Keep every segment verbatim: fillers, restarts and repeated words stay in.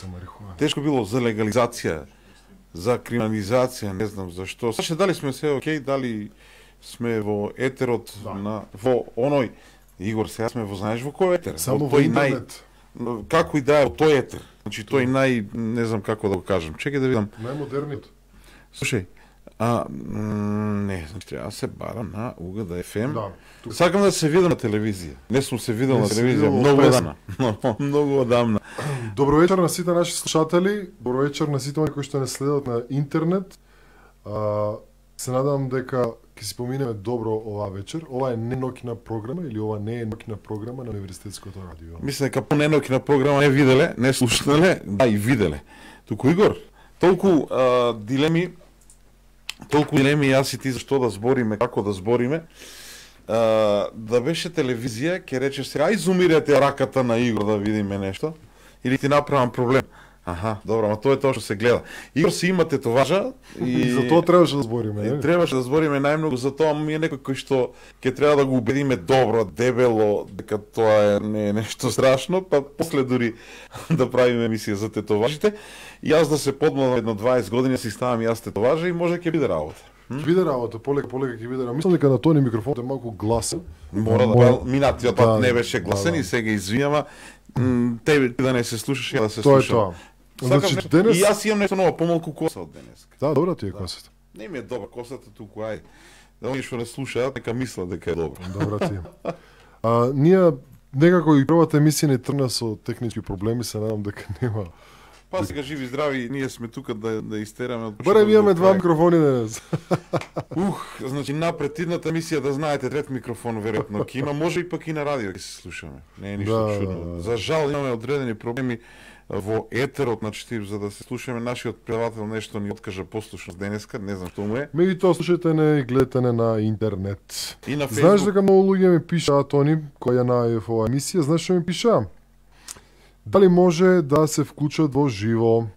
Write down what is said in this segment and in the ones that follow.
за марихуана. Тешко било за легализација, за криминализација, не знам зашто. Саше дали сме се окей, дали сме во етерот Да. на во оној Игор, сега сме во знаеш во кој етер? Само Во во тој нај интернет. како и да е во тој етер. Значи тој нај не знам како да го кажам. Чекај да видам. Најмодерниот. Слушај, а м, не, значи треба да се барам на УГД еф ем. Да. Тук. Сакам да се видам на телевизија. Не сум се видел Не на си телевизија видел многу пресно. одамна. Многу одамна. Добро вечер на сите наши слушатели, добро вечер на сите оние кои што не следат на интернет. А, се надам дека ќе си поминеме добро оваа вечер. Ова е не ноќна програма или ова не е ноќна програма на Универзитетското радио. Мислам дека по ненокина програма не виделе, не слушнале, да и виделе. Туку Игор, толку а, дилеми, толку дилеми јас и ти зашто да збориме, како да збориме. А, да беше телевизија, ќе речеш сега, ај зумирате раката на Игор да видиме нешто, или ти направам проблем. Аха, добро, ама тоа е тоа што се гледа. Игор си има тетоважа и, И за тоа требаше да збориме, и не? требаше да збориме најмногу за тоа, ми е некој кој што ќе треба да го убедиме добро, дебело, дека тоа е не е нешто страшно, па после дури да правиме емисија за тетоважите. И јас да се подмалам едно дваесет години, си ставам јас тетоважа и може ќе биде работа. Ќе биде работа, полека полека ќе биде работа. Мислам дека на тони микрофонот е малку гласен. Мора да Мора- па, минатиот да, пат не беше гласен да, да. и сега извинјава. м, Тебе ти да не се слушаш, ја да се Тоа е слушам. тоа. Сакам Значи, нешто- денес- И јас имам нешто ново, помалку коса од денес. Да, добра ти е косата. Не ми е добра косата туку, ај. Да оние што не слушаат, нека мислат дека е добра. Добра ти е. А, ние некако и првата емисија не тргна со технички проблеми, се надам дека нема. Па сега живи здрави, ние сме тука да да истераме од Барем почеток имаме до два крај. микрофони денес. Ух, значи напред идната емисија да знаете трет микрофон веројатно ќе има, може и пак и на радио ќе се слушаме. Не е ништо Да, чудно. да, да. За жал имаме одредени проблеми во етерот, значи за да се слушаме нашиот предавател нешто ни откажа послушност денеска, не знам што му е. Меѓутоа слушајте не и гледате не на интернет. И на Знаеш Facebook. дека многу луѓе ми пишаат они кои ја најав оваа емисија, знаеш што ми пишаа? Дали може да се вклучат во живо?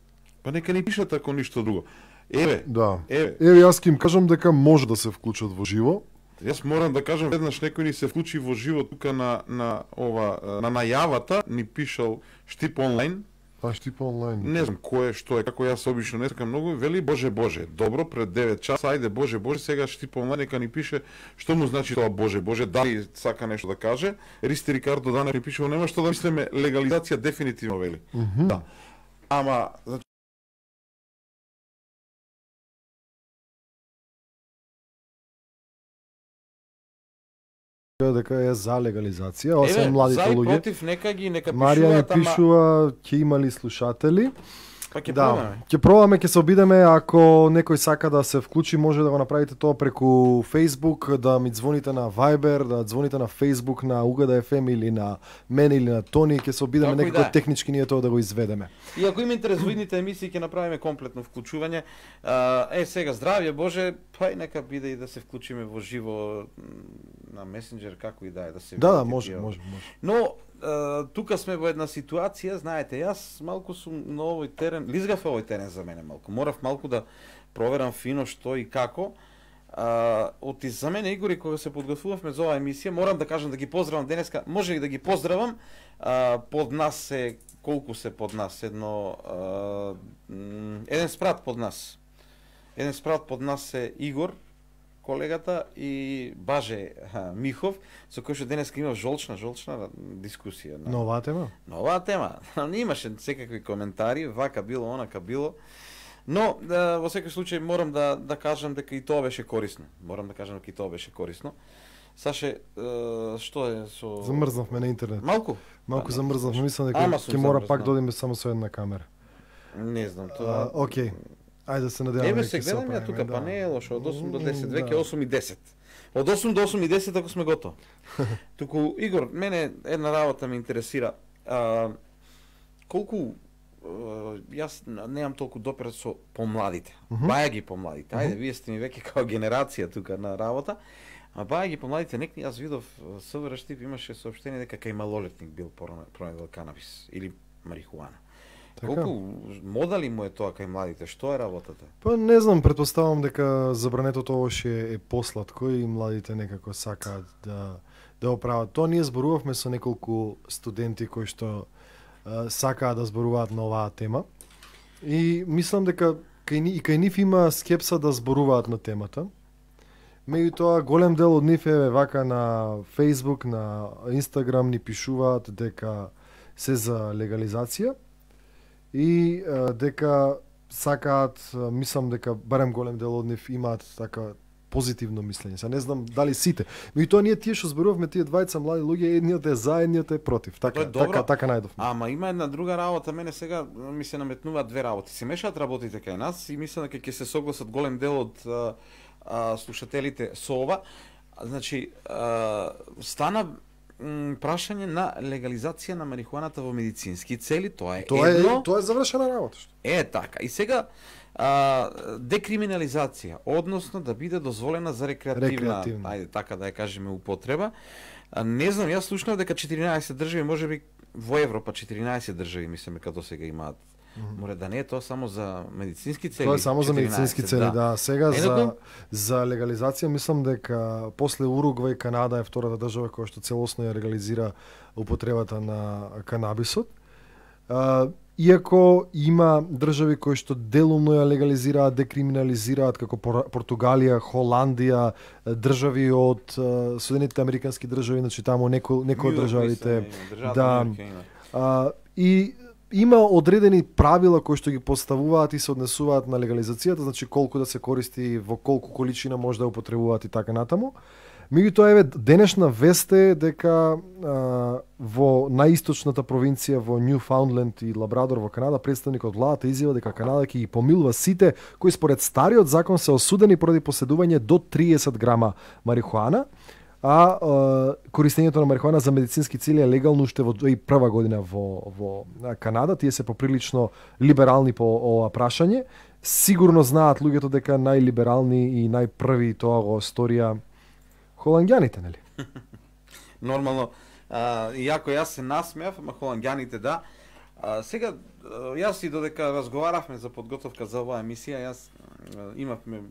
Па нека ни пишат ако ништо друго. Еве, Да. еве, Еве јас ќе им кажам дека може да се вклучат во живо. јас морам да кажам веднаш некој ни се вклучи во живо тука на на ова на најавата, ни пишал Штип онлайн. А штипа онлайн. Не знам кој е, што е, како јас обично не сакам многу, вели Боже Боже, добро пред девет часа, ајде Боже Боже, сега Штип онлайн нека ни пише што му значи тоа Боже Боже, дали сака нешто да каже. Ристи Рикардо Данев ни пише, нема што да мислиме, легализација дефинитивно вели. Мгм. Да. Ама значи Дека е за легализација, освен еве, младите за и луѓе. против нека ги нека Марија ни пишуваат, ама пишува ќе имали слушатели. па ќе Да, пробаме. ќе пробаме, ќе се обидеме, ако некој сака да се вклучи, може да го направите тоа преку Facebook, да ми звоните на Viber, да звоните на Facebook, на УГД еф ем или на мене или на Тони, ќе се обидеме Како и некако да е. технички ние тоа да го изведеме. И ако има интерес во идните емисии ќе направиме комплетно вклучување. А, е сега здравје Боже, па и нека биде и да се вклучиме во живо м, на месенџер како и да е да се Да, да, видите може, тие. може, може. Но а, тука сме во една ситуација, знаете, јас малку сум на овој терен, лизгав овој терен за мене малку. Морав малку да проверам фино што и како. А, оти за мене Игори кога се подготвувавме за оваа емисија, морам да кажам да ги поздравам денеска, може и да ги поздравам. А, под нас се колку се под нас, едно а, м, еден спрат под нас. Еден спрат под нас е Игор, колегата, и Баже а, Михов, со кој што денеска имав жолчна, жолчна дискусија. На, На оваа тема? на оваа тема. Не имаше секакви коментари, вака било, онака било. Но, да, во секој случај, морам да, да кажам дека и тоа беше корисно. Морам да кажам дека и тоа беше корисно. Саше, е, што е со... Замрзнавме на интернет. Малку? Малку А, замрзнавме, мислам дека Ама сум ќе мора замрзнал. пак да одиме само со една камера. Не знам, А, тоа... окей. Ајде да се надеваме. Еве дека се ќе гледам ја оправиме, тука, да. па не е лошо, од осум до десет, М, веќе да. осум и десет. Од осум до осум и десет ако сме готови. Туку, Игор, мене една работа ме интересира. А, колку а, јас немам толку допир со помладите. Мгм. Баја ги помладите. Ајде, вие сте ми веќе као генерација тука на работа. А баја ги помладите, нек јас видов СВР Штип имаше соопштение дека кај малолетник бил пронедел канабис или марихуана. Така. Колку модали му е тоа кај младите? Што е работата? Па не знам, претпоставам дека забрането овош е, е посладко и младите некако сакаат да да го прават. Тоа ние зборувавме со неколку студенти кои што а, сакаат да зборуваат на оваа тема. И мислам дека кај ни, и кај нив има скепса да зборуваат на темата. Меѓутоа голем дел од нив е вака на Facebook, на Instagram ни пишуваат дека се за легализација и а, дека сакаат, мислам дека барем голем дел од нив имаат така позитивно мислење. Се не знам дали сите. Меѓутоа ние тие што зборувавме, тие двајца млади луѓе, едниот е за, едниот е против. Така, така, така најдовме. Ама има една друга работа, мене сега ми се наметнуваат две работи. Се мешаат работите кај нас и мислам дека ќе се согласат голем дел од а, а, слушателите со ова. Значи, а, стана м, прашање на легализација на марихуаната во медицински цели, тоа е Тоа едно. е тоа е завршена работа. Што? Е така. И сега а, декриминализација, односно да биде дозволена за рекреативна, Рекреативна. ајде така да ја кажеме, употреба. А, не знам, јас слушнав дека четиринаесет држави, можеби во Европа четиринаесет држави мислиме како сега имаат. Mm -hmm. Море да не е тоа само за медицински цели. Тоа е само за медицински цели, да. да. Сега Едното... за за легализација мислам дека после Уругвај Канада е втората држава која што целосно ја легализира употребата на канабисот. А, иако има држави кои што делумно ја легализираат, декриминализираат, како Португалија, Холандија, држави од Соединетите Американски држави, значи таму некои некои од државите, да, а, и има одредени правила кои што ги поставуваат и се однесуваат на легализацијата, значи колку да се користи, во колку количина може да употребуваат и така натаму. Меѓутоа, еве, денешна вест е дека а, во наисточната провинција во Ньюфаундленд и Лабрадор во Канада, представник од владата изјава дека Канада ќе ги помилува сите кои според стариот закон се осудени поради поседување до триесет грама марихуана, а, а користењето на марихуана за медицински цели е легално уште во две тисячи и прва година во, во Канада. Тие се поприлично либерални по ова прашање. Сигурно знаат луѓето дека најлиберални и најпрви тоа го сторија холанѓаните, нели? Нормално. А, иако јас се насмеав, ама холанѓаните да. А, сега, јас и додека разговаравме за подготовка за оваа емисија, јас а, имавме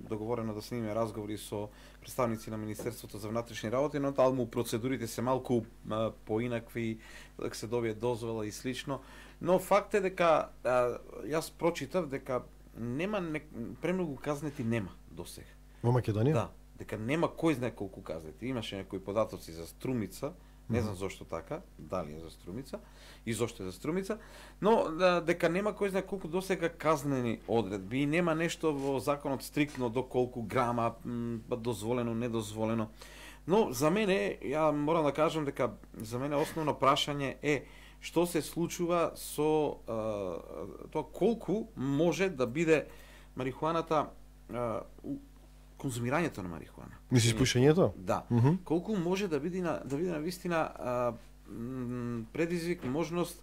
договорено да снимиме разговори со представници на Министерството за внатрешни работи, но таму процедурите се малку а, поинакви, дека се добие дозвола и слично. Но факт е дека а, јас прочитав дека нема не, премногу казнети нема досега. Во Македонија? Да, дека нема кој знае колку казнети. Имаше некои податоци за Струмица, не знам зошто така, дали е за Струмица и зошто е за Струмица, но да, дека нема кој знае колку досега казнени одредби и нема нешто во законот стриктно до колку грама м, дозволено, недозволено. Но за мене, ја морам да кажам дека за мене основно прашање е што се случува со а, тоа колку може да биде марихуаната, а, конзумирањето на марихуана. Мислиш пушењето? Да. Mm -hmm. Колку може да биде на да биде на вистина а, предизвик, можност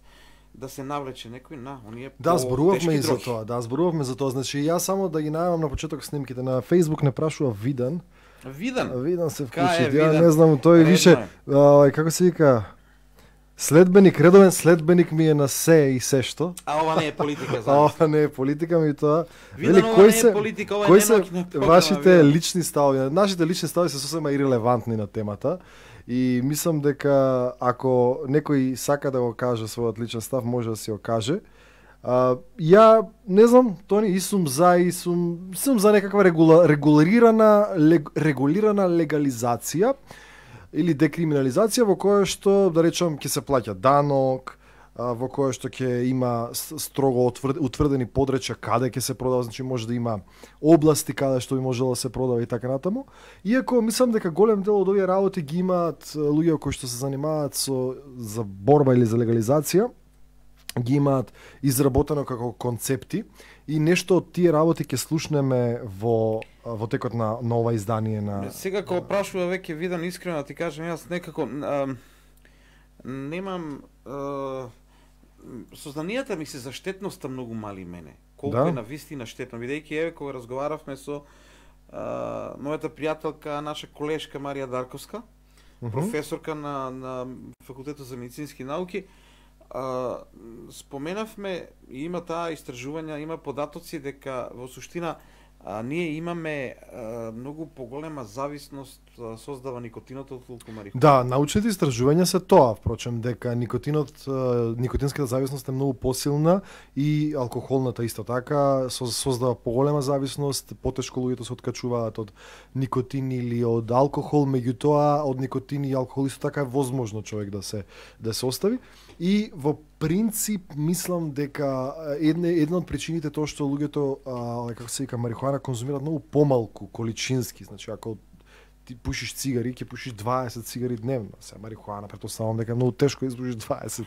да се навлече некој на оние Да, зборувавме и за дрохи. тоа. Да, зборувавме за тоа. Значи јас само да ги најавам на почеток снимките на Facebook не прашува Видан. Видан. Видан се Кај вклучи. е Ја Видан? не знам, тој Редно више е. ај како се вика, следбеник, редовен следбеник ми е на се и се што. А ова не е политика за А нас. ова не е политика, ми тоа. Видан, Вели, ова кои не е се политика, ова е кои се ненаучна програма, вашите Видан. лични ставови? Нашите лични ставови се сосема ирелевантни на темата. И мислам дека ако некој сака да го каже својот личен став, може да си го каже. А, ја не знам, Тони, и сум за и сум сум за некаква регула, регулирана лег, регулирана легализација или декриминализација во која што, да речам, ќе се плаќа данок, а, во која што ќе има с- строго отврд, утврдени подречја каде ќе се продава, значи може да има области каде што би можело да се продава и така натаму. Иако мислам дека голем дел од овие работи ги имаат а, луѓе кои што се занимаваат со за борба или за легализација, ги имаат изработено како концепти и нешто од тие работи ќе слушнеме во во текот на, на ова издание на Сега кога прашува веќе Видан, искрено да ти кажам, јас некако а, немам а, сознанијата ми се за штетноста многу мали мене. Колку Да. е на вистина штетно, бидејќи еве кога разговаравме со а, мојата пријателка, наша колешка Марија Дарковска, Мгм. професорка на на факултетот за медицински науки, а, споменавме и има таа истражувања, има податоци дека во суштина а, ние имаме а, многу поголема зависност а, создава никотинот отколку марихуана. Да, научните истражувања се тоа, впрочем, дека никотинот, никотинската зависност е многу посилна и алкохолната исто така создава поголема зависност, потешко луѓето се откачуваат од никотин или од алкохол, меѓутоа од никотин и алкохол исто така е возможно човек да се да се остави. И во принцип мислам дека една една од причините тоа што луѓето а, како се вика марихуана конзумираат многу помалку количински, значи ако ти пушиш цигари, ќе пушиш дваесет цигари дневно. Се марихуана, претпоставувам дека е многу тешко да изпушиш дваесет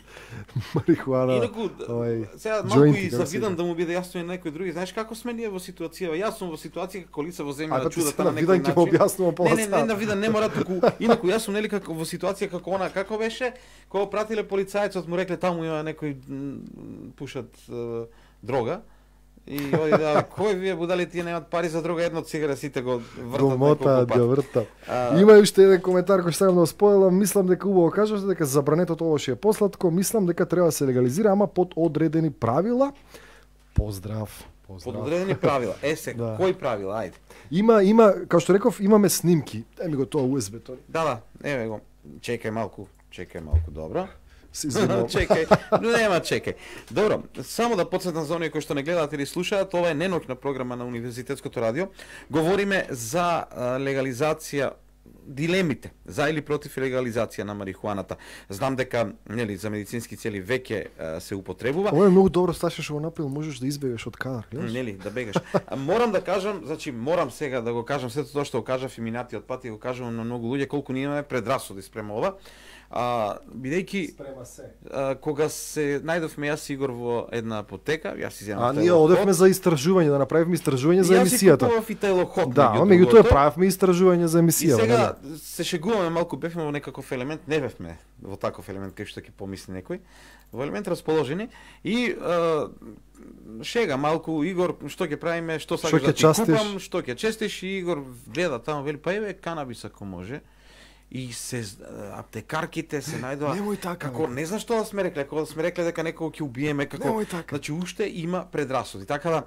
марихуана. Инаку, ovaj, сега малку и завидам да му биде јасно и некој други. Знаеш како сме ние во ситуација? Јас сум во ситуација како лице во земја чудата на некој начин. Ќе објаснувам пола Не, не, не, не, не мора туку. Инаку јас сум нели како во ситуација како она, како беше, кога пратиле полицајецот му рекле таму има некој пушат е, дрога. И оди да, кој вие будали тие немаат пари за друга една цигара, сите го вртат неколку пати. Вртат. А... Има уште еден коментар кој сакам да споделам, мислам дека убаво кажувате дека забранетото овош е посладко, мислам дека треба да се легализира, ама под одредени правила. Поздрав. Поздрав. Под одредени правила. Е се, да. Кои правила? Ајде. Има има, како што реков, имаме снимки. Еми го тоа ю ес би-то. Да, да, еве го. Чекај малку, чекај малку, добро. Чекај, но нема чекај. Добро, само да потсетам за оние кои што не гледаат или слушаат, ова е неноќна програма на Универзитетското радио. Говориме за легализација, дилемите за или против легализација на марихуаната. Знам дека нели за медицински цели веќе се употребува. Ова е многу добро, Сташа што го направил, можеш да избегаш од кадар, гледаш? Нели, да бегаш. Морам да кажам, значи морам сега да го кажам сето тоа што го кажав и минатиот пат и го кажувам на многу луѓе колку ние имаме предрасуди спрема ова. А, бидејќи а, кога се најдовме јас Игор во една апотека, јас изјавам. А ние одевме за истражување, да направиме истражување за емисијата. Јас си купував и телоход. Да, меѓутоа правевме истражување за емисија. И сега не, се шегуваме малку, бевме во некаков елемент, не бевме во таков елемент кај што ќе помисли некој. Во елемент расположени и а, шега малку Игор, што ќе правиме, што сакаш да ти купам, што ќе честиш, и Игор гледа таму, вели па еве канабис ако може. И се аптекарките се најдоа. Немој така. Како не знам што да сме рекле, кога сме рекле дека некого ќе убиеме, како така. Значи уште има предрасуди. Така да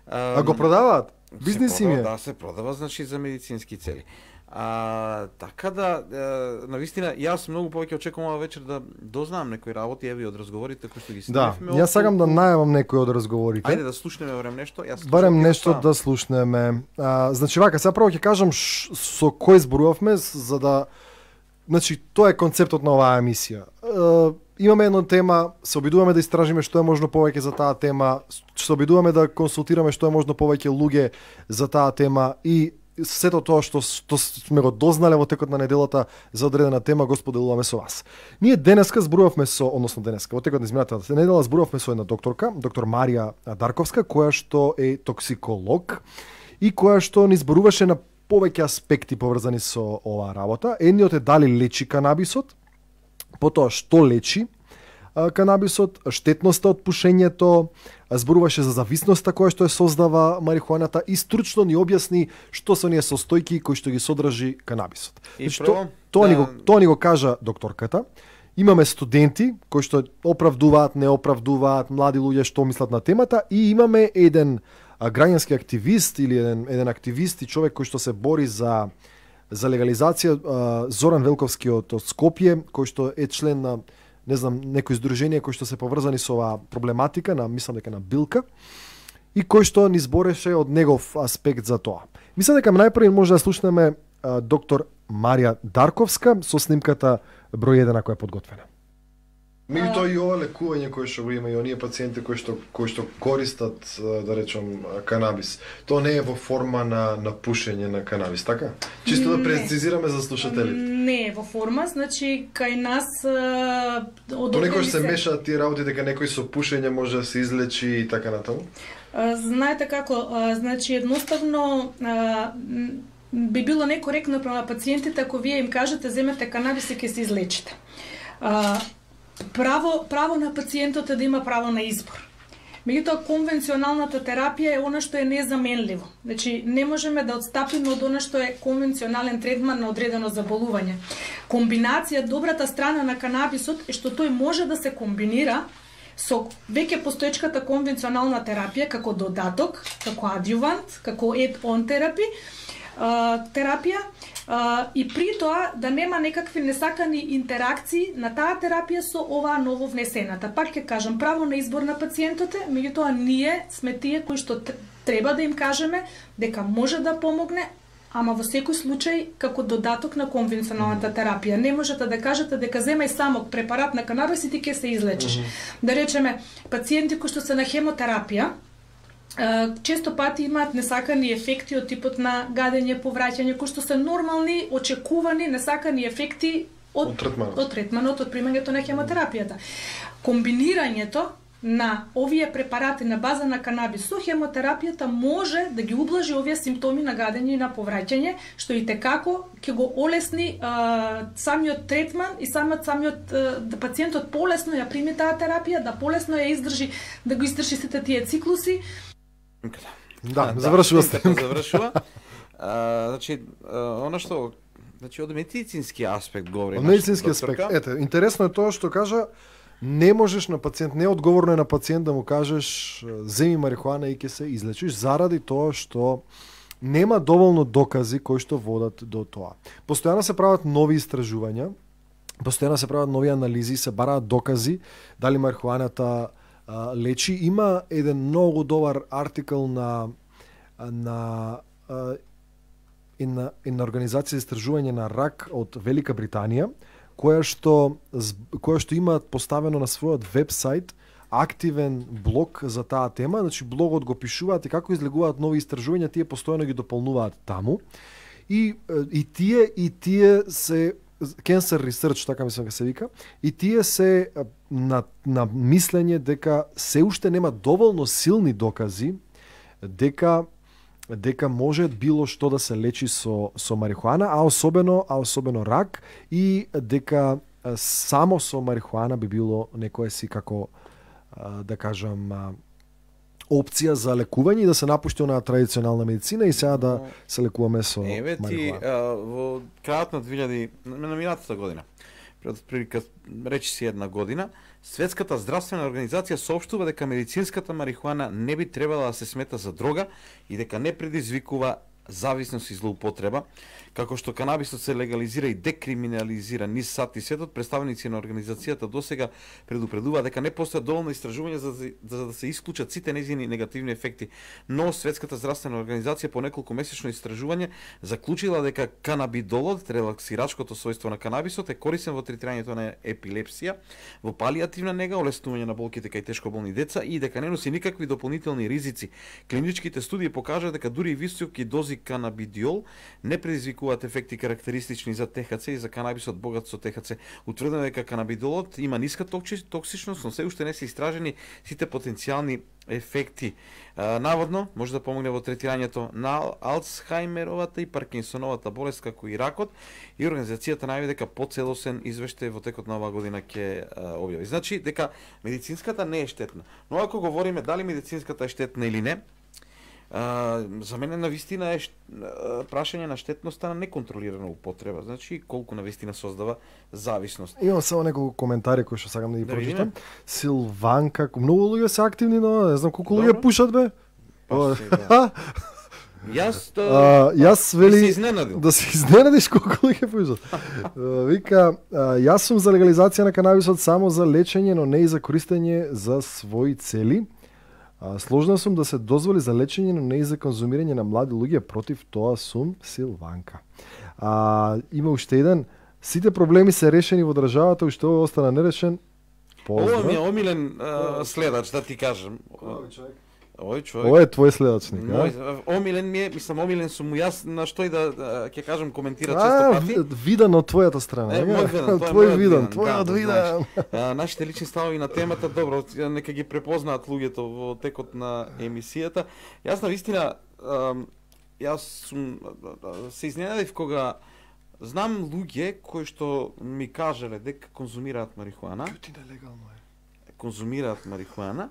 а, а го продаваат? Бизнис им е. Да, се продава значи за медицински цели. А, така да, е, навистина, јас многу повеќе очекувам ова вечер да дознам некои работи, еви од разговорите кои што ги снимавме. Да, јас сакам да најавам некои од разговорите. Ајде да слушнеме барем нешто. Јас барем нешто да слушнеме. А, значи вака, сега прво ќе кажам ш, со кој зборувавме за да, значи тоа е концептот на оваа емисија. А, имаме една тема, се обидуваме да истражиме што е можно повеќе за таа тема, се обидуваме да консултираме што е можно повеќе луѓе за таа тема и сето тоа што, што сме го дознале во текот на неделата за одредена тема го споделуваме со вас. Ние денеска зборувавме со, односно денеска, во текот на изминатата недела зборувавме со една докторка, доктор Марија Дарковска, која што е токсиколог и која што ни зборуваше на повеќе аспекти поврзани со оваа работа. Едниот е дали лечи канабисот, потоа што лечи канабисот, штетноста од пушењето, зборуваше за зависноста која што е создава марихуаната и стручно ни објасни што се оние состојки кои што ги содржи канабисот. Значи, тоа, тоа, да... ни го, тоа ни го кажа докторката. Имаме студенти кои што оправдуваат, не оправдуваат, млади луѓе што мислат на темата и имаме еден граѓански активист или еден, еден активист и човек кој што се бори за за легализација, Зоран Велковски од Скопје, кој што е член на не знам, некои здруженија кои што се поврзани со оваа проблематика, на мислам дека на Билка, и кој што ни збореше од негов аспект за тоа. Мислам дека најпрви може да слушнеме а, доктор Марија Дарковска со снимката број еден која е подготвена. Меѓутоа и ова лекување кое што го има и оние пациенти кои што кои што користат, да речам, канабис, тоа не е во форма на на пушење на канабис, така? Чисто да прецизираме за слушателите. Не е во форма, значи кај нас од Тоа некој се мешаат тие работи дека некој со пушење може да се излечи и така натаму? Знаете како, значи едноставно би било некоректно према пациентите ако вие им кажете земете канабис и ќе се излечите. Право, право на пациентот е да има право на избор. Меѓутоа, конвенционалната терапија е она што е незаменливо. Значи, не можеме да отстапиме од она што е конвенционален третман на одредено заболување. Комбинација, добрата страна на канабисот е што тој може да се комбинира со веќе постоечката конвенционална терапија како додаток, како адјувант, како add-on терапи, терапија, и при тоа да нема некакви несакани интеракции на таа терапија со оваа ново внесената. Пак ќе кажам, право на избор на пациентите, меѓутоа ние сме тие кои што треба да им кажеме дека може да помогне, ама во секој случај како додаток на конвенционалната терапија. Не можете да кажете дека земај само препарат на канабис и ти ќе се излечиш. Mm-hmm. Да речеме, пациенти кои што се на хемотерапија, често пати имаат несакани ефекти од типот на гадење, повраќање, кои што се нормални, очекувани несакани ефекти од, од третманот, од, третманот, од примањето на хемотерапијата. Комбинирањето на овие препарати на база на канабис со хемотерапијата може да ги ублажи овие симптоми на гадење и на повраќање, што и текако ќе го олесни а, самиот третман и самиот самиот а, да пациентот полесно ја прими таа терапија, да полесно ја издржи, да го издржи сите тие циклуси. Да, завршува сте. Завршува. А, значи, она што, значи од медицински аспект говори. Од медицински аспект. Ете, интересно е тоа што кажа, не можеш на пациент, не одговорно е на пациент да му кажеш земи марихуана и ќе се излечиш, заради тоа што нема доволно докази кои што водат до тоа. Постојано се прават нови истражувања, постојано се прават нови анализи, се бараат докази дали марихуаната а, лечи. Има еден многу добар артикл на на една една организација за истражување на рак од Велика Британија, која што која што има поставено на својот вебсайт активен блог за таа тема, значи блогот го пишуваат и како излегуваат нови истражувања, тие постојано ги дополнуваат таму. И и тие и тие се cancer research, така мислам дека се вика, и тие се на на мислење дека се уште нема доволно силни докази дека дека може било што да се лечи со со марихуана, а особено а особено рак, и дека само со марихуана би било некое си како да кажам опција за лекување и да се напушти на традиционална медицина и сега да се лекуваме со Еве ти марихуана. во крајот на две илјади на минатата година, пред прилика речи си една година, Светската здравствена организација соопштува дека медицинската марихуана не би требала да се смета за дрога и дека не предизвикува зависност и злоупотреба, како што канабисот се легализира и декриминализира низ САД и светот. Представници на организацијата досега предупредува дека не постојат доволно истражувања за, за да се исклучат сите нејзини негативни ефекти, но Светската здравствена организација по неколку месечно истражување заклучила дека канабидолот, релаксирачкото својство на канабисот, е корисен во третирањето на епилепсија, во палиативна нега, олеснување на болките кај тешко болни деца и дека не носи никакви дополнителни ризици. Клиничките студии покажаа дека дури и високи дози канабидиол не предизвикуваат ефекти карактеристични за Т Х Ц и за канабисот богат со Т Х Ц. Утврдено е дека канабидолот има ниска токсичност, но се уште не се истражени сите потенцијални ефекти. А, наводно може да помогне во третирањето на Алцхаймеровата и Паркинсоновата болест, како и ракот, и организацијата најави дека поцелосен извештај во текот на оваа година ќе објави. Значи дека медицинската не е штетна. Но ако говориме дали медицинската е штетна или не, Uh, за мене навистина е uh, прашање на штетноста на неконтролирана употреба. Значи колку навистина создава зависност. Имам само неколку коментари кои што сакам да ги да прочитам. Силванка, многу луѓе се активни, но не знам колку луѓе пушат бе. Па, си, да. Јас то... uh, јас вели да се изненадил. Да се изненадиш колку луѓе пушат. uh, вика, uh, јас сум за легализација на канабисот само за лечење, но не и за користење за своји цели. А, сложна сум да се дозволи за лечење, но не и за конзумирање на млади луѓе, против тоа сум Силванка. А, има уште еден, сите проблеми се решени во државата, уште ова остана нерешен. Поздрав. Ова ми е омилен а, следач, да ти кажам. Овој човек. Ова е твој следачник, а? Мој, омилен ми е, мислам омилен сум јас, на што и да ќе кажам коментира често пати. А, видан од твојата страна. Е, мој видан, твој видан, твој да, од видан. Да, нашите лични ставови на темата, добро, нека ги препознаат луѓето во текот на емисијата. Јас навистина, јас сум се изненадив кога знам луѓе кои што ми кажале дека конзумираат марихуана. Јутина легално е. Конзумираат марихуана.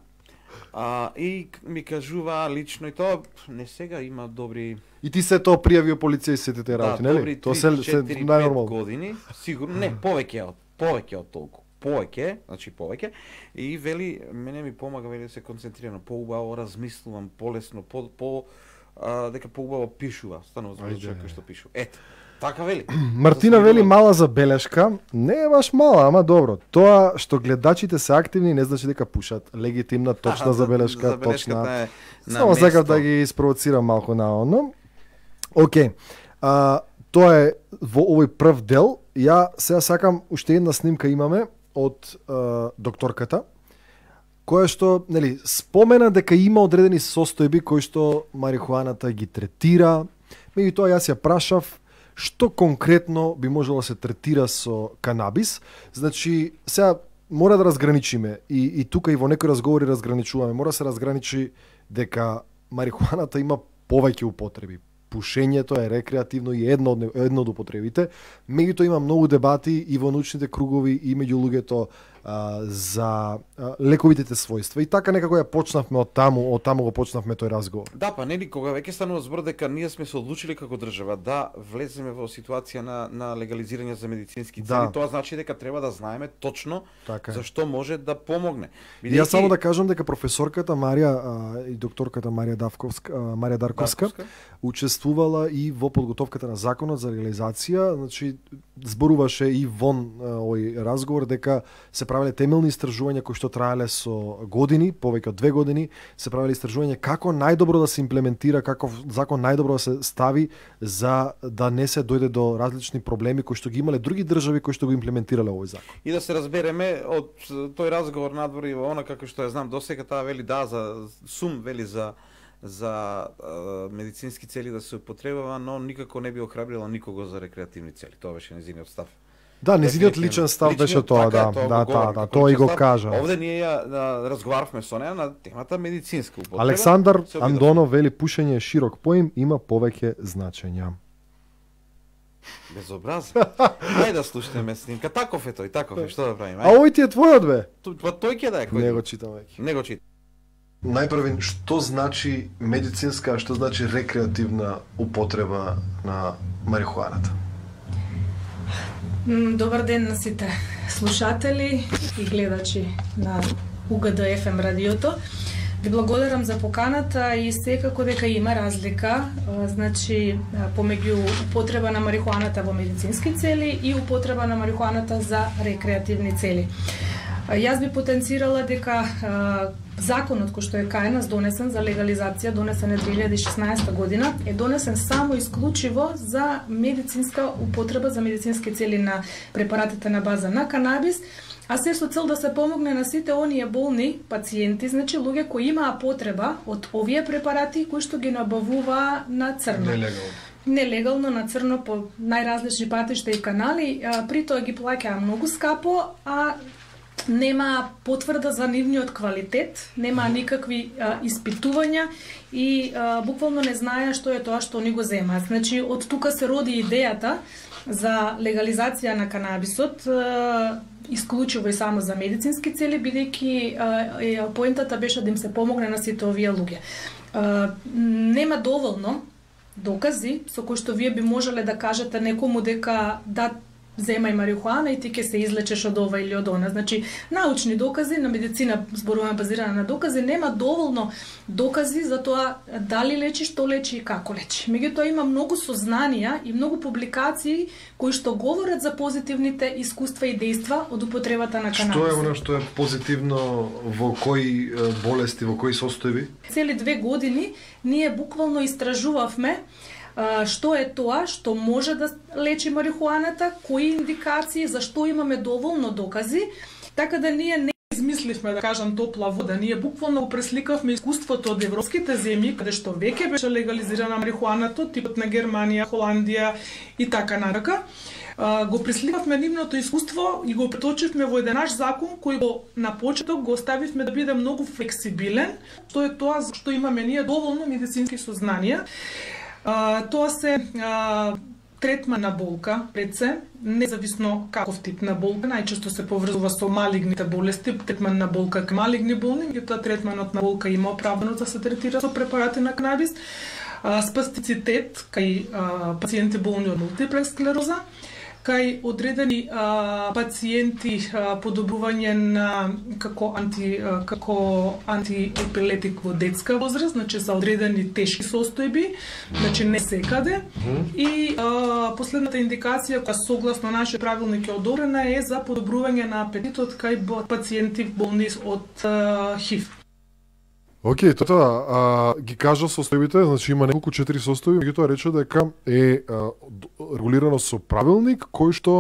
А, и ми кажува лично и тоа не сега има добри. И ти се тоа пријавио полиција и сите те работи, да, нели? Тоа се се најнормално години, сигурно не, повеќе од повеќе од толку. повеќе, значи повеќе, и вели, мене ми помага, вели, да се концентрирам, поубаво размислувам, полесно, по, по а, дека поубаво пишува, станува збор човек кој што пишува. Ето, така вели. Мартина вели мала забелешка, не е баш мала, ама добро. Тоа што гледачите се активни не значи дека пушат. Легитимна, точна забелешка, точна. Е Само сакав да ги испровоцирам малку на оно. Океј. А, тоа е во овој прв дел. Ја сега сакам уште една снимка имаме од а, докторката, која што, нели, спомена дека има одредени состојби кои што марихуаната ги третира. Меѓутоа јас ја прашав што конкретно би можело да се третира со канабис. Значи, сега мора да разграничиме и, и тука и во некои разговори разграничуваме. Мора да се разграничи дека марихуаната има повеќе употреби. Пушењето е рекреативно и едно од, едно од употребите. Меѓутоа има многу дебати и во научните кругови и меѓу луѓето а, за а, лековитите својства. И така некако ја почнавме од таму, од таму го почнавме тој разговор. Да, па нели кога веќе станува збор дека ние сме се одлучили како држава да влеземе во ситуација на на легализирање за медицински цели, да. Тоа значи дека треба да знаеме точно така зашто може да помогне. Бидејќи... Јас само да кажам дека професорката Марија а, и докторката Марија Давковска, а, Марија Дарковска, Дарковска учествувала и во подготовката на законот за легализација, значи зборуваше и вон овој разговор дека се правеле темелни истражувања кои што траеле со години, повеќе од две години, се правеле истражувања како најдобро да се имплементира, каков закон најдобро да се стави за да не се дојде до различни проблеми кои што ги имале други држави кои што го имплементирале овој закон. И да се разбереме од тој разговор надвор и во она како што ја знам досега, таа вели да за сум вели за за а, медицински цели да се употребува, но никако не би охрабрила никого за рекреативни цели. Тоа беше нејзиниот став. Да, нејзиниот личен став беше тоа, да, да, да, да, тоа и го кажа. Овде ние ја да, разговаравме со неа на темата медицинска употреба. Александар Андонов вели пушење е широк поим, има повеќе значења. Безобразно. Ајде да слушнеме снимка. Таков е тој, таков е, што да правиме? А овој ти е твојот бе? Тоа тој ќе да е кој. Не го читам веќе. Не го читам. Најпрвен, што значи медицинска, а што значи рекреативна употреба на марихуаната? Добар ден на сите слушатели и гледачи на У Г Д Ф М радиото. Ви благодарам за поканата и секако дека има разлика, значи помеѓу употреба на марихуаната во медицински цели и употреба на марихуаната за рекреативни цели. Јас би потенцирала дека законот кој што е кај нас донесен за легализација, донесен е две илјади и шеснаесета година, е донесен само исклучиво за медицинска употреба, за медицински цели на препаратите на база на канабис, а се со цел да се помогне на сите оние болни пациенти, значи луѓе кои имаа потреба од овие препарати кои што ги набавува на црно. Нелегално. Нелегално на црно по најразлични патишта и канали, при тоа ги плаќаа многу скапо, а нема потврда за нивниот квалитет, нема никакви а, испитувања и а, буквално не знаеа што е тоа што они го земаат. Значи, од тука се роди идејата за легализација на канабисот, а, исклучиво и само за медицински цели, бидејќи поентата беше да им се помогне на сите овие луѓе. А, нема доволно докази со кои што вие би можеле да кажете некому дека да земај марихуана и ти ќе се излечеш од ова или од она. Значи, научни докази, на медицина зборуваме базирана на докази, нема доволно докази за тоа дали лечи, што лечи и како лечи. Меѓутоа има многу сознанија и многу публикации кои што говорат за позитивните искуства и дејства од употребата на канабис. Што е она што е позитивно во кои болести, во кои состојби? Цели две години ние буквално истражувавме што е тоа што може да лечи марихуаната, кои индикации, зашто имаме доволно докази, така да ние не измисливме, да кажам, топла вода. Ние буквално го пресликавме искуството од европските земји, каде што веќе беше легализирана марихуаната, типот на Германија, Холандија и така натака. Го пресликавме нивното искуство и го преточивме во еден наш закон кој го на почеток го оставивме да биде многу флексибилен, што е тоа што имаме ние доволно медицински сознанија. Uh, тоа се uh, третман на болка, пред се, независно каков тип на болка, најчесто се поврзува со малигните болести, третман на болка кај малигни болни, меѓутоа третманот на болка има оправдано да се третира со препарати на канабис, uh, спастицитет кај uh, пациенти болни од мултиплекс склероза, кај одредени а, пациенти а, подобрување на како анти а, како антиепилетик во детска возраст, значи за одредени тешки состојби, значи не секаде. И а, последната индикација која согласно нашиот правилник е одобрена е за подобрување на апетитот кај пациенти болни од а, ХИВ. Океј, тоа а, ги кажа состојбите, значи има неколку четири состојби, меѓутоа рече дека е а, регулирано со правилник кој што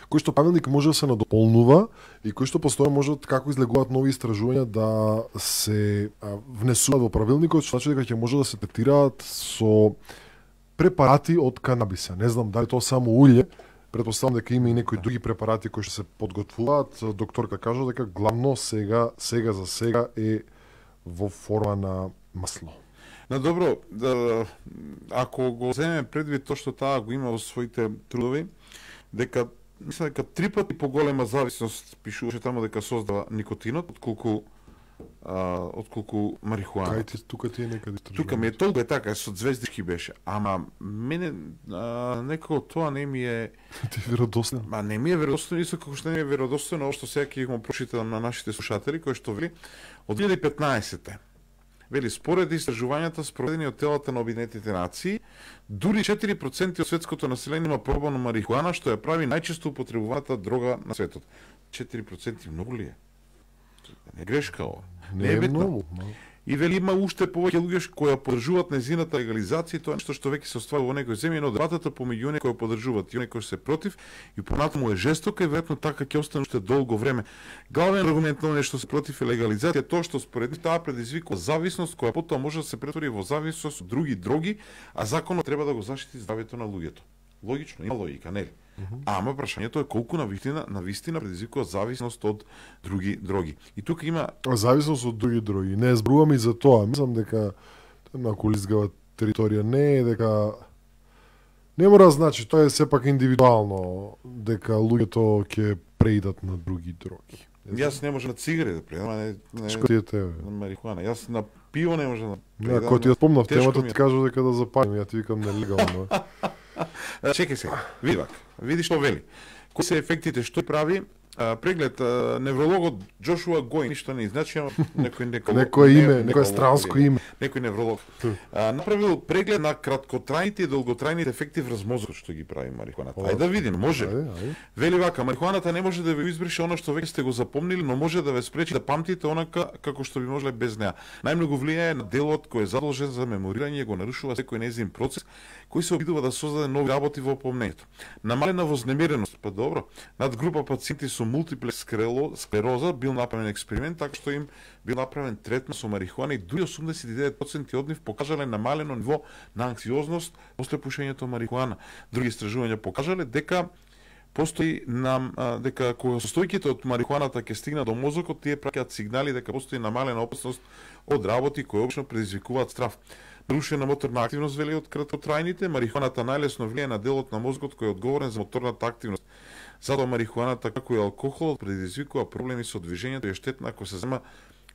кој што правилник може да се надополнува и кој што постојано можат како излегуваат нови истражувања да се а, внесуваат во правилникот, што значи дека ќе може да се третираат со препарати од канабиса. Не знам дали тоа само улје, претпоставам дека има и некои други препарати кои што се подготвуваат. Докторка кажа дека главно сега сега за сега е во форма на масло. На добро, да, ако го земеме предвид тоа што таа го има во своите трудови, дека мислам дека три пати поголема зависност пишуваше тамо дека создава никотинот отколку а, отколку марихуана. Кај ти тука ти е некаде истражување. Тука ми е толку е така, со звездички беше. Ама мене а, некако тоа не ми е ти е веродостојно. Ма не ми е веродостојно, исто како што не ми е веродостојно ова што сега ќе го прочитам на нашите слушатели, кои што вели од две илјади и петнаесетте. Вели, според истражувањата спроведени од телата на Обединетите нации, дури четири проценти од светското население има пробано марихуана, што ја прави најчесто употребуваната дрога на светот. четири проценти многу ли е? Не е грешка ова. Не е многу. И вели има уште повеќе луѓе кои ја поддржуваат нејзината легализација, тоа е нешто што веќе се остварува во некои земји, но дебатата помеѓу оние кои ја поддржуваат и оние кои се против и понатаму е жестока и веројатно така ќе остане уште долго време. Главен аргумент на оние што се против е легализација, тоа што според нив таа предизвикува зависност која потоа може да се претвори во зависност од други дроги, а законот треба да го заштити здравјето на луѓето. Логично, има логика, нели? Uh-huh. Ама прашањето е колку на вистина, на вистина предизвикува зависност од други дроги. И тука има зависност од други дроги. Не зборувам и за тоа. Мислам дека на колизгава територија не е дека не мора да значи, тоа е сепак индивидуално дека луѓето ќе преидат на други дроги. Јас не можам на цигари да преидам, а не, не Што ти е тебе? На марихуана. Јас на пиво не можам да преидам. Ако ти ја спомнав темата, ти кажа дека да запалим, ја ти викам нелегално. Чекај сега, види вака, види што вели. Кои се ефектите, што прави? А, преглед, а, неврологот Джошуа Гоин, ништо не значи, ама некој некој некој име, некој странско име. Некој невролог. А, направил преглед на краткотрајните и долготрајните ефекти врз мозокот што ги прави марихуаната. Ајде да видиме, може. Ајде, ајде. Вели вака, марихуаната не може да ве избрише она што веќе сте го запомнили, но може да ве спречи да памтите онака како што би можеле без неа. Најмногу влијае на делот кој е задолжен за меморирање и го нарушува секој нејзин процес кој се обидува да создаде нови работи во помнењето. Намалена вознемиреност, па добро, над група пациенти со мултиплекс склероза бил направен експеримент така што им бил направен третман со марихуана и дури осумдесет и девет проценти од нив покажале намалено ниво на анксиозност после пушењето марихуана. Други истражувања покажале дека постои нам дека кога состојките од марихуаната ќе стигнат до мозокот, тие праќаат сигнали дека постои намалена опасност од работи кои обично предизвикуваат страв. Нарушена моторна активност вели од краткотрајните, марихуаната најлесно влијае на делот на мозокот кој е одговорен за моторната активност. Затоа марихуаната како и алкохолот предизвикува проблеми со движењето и е штетна ако се зема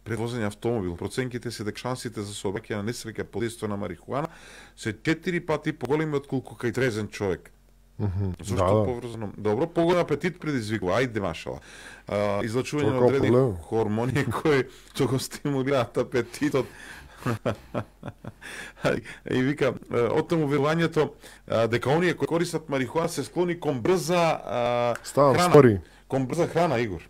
пред возење автомобил. Проценките се дека шансите за сообраќај на несреќа под дејство на марихуана се четири пати поголеми отколку кај трезен човек. Mm-hmm. Зошто да, поврзано? Добро, поголем апетит предизвикува. Ајде машала. А, излачување на одредени хормони кои што го стимулираат апетитот. И вика, оттаму верувањето дека оние кои користат марихуана се склони кон брза Ставам, храна. стори. Кон брза храна, Игор.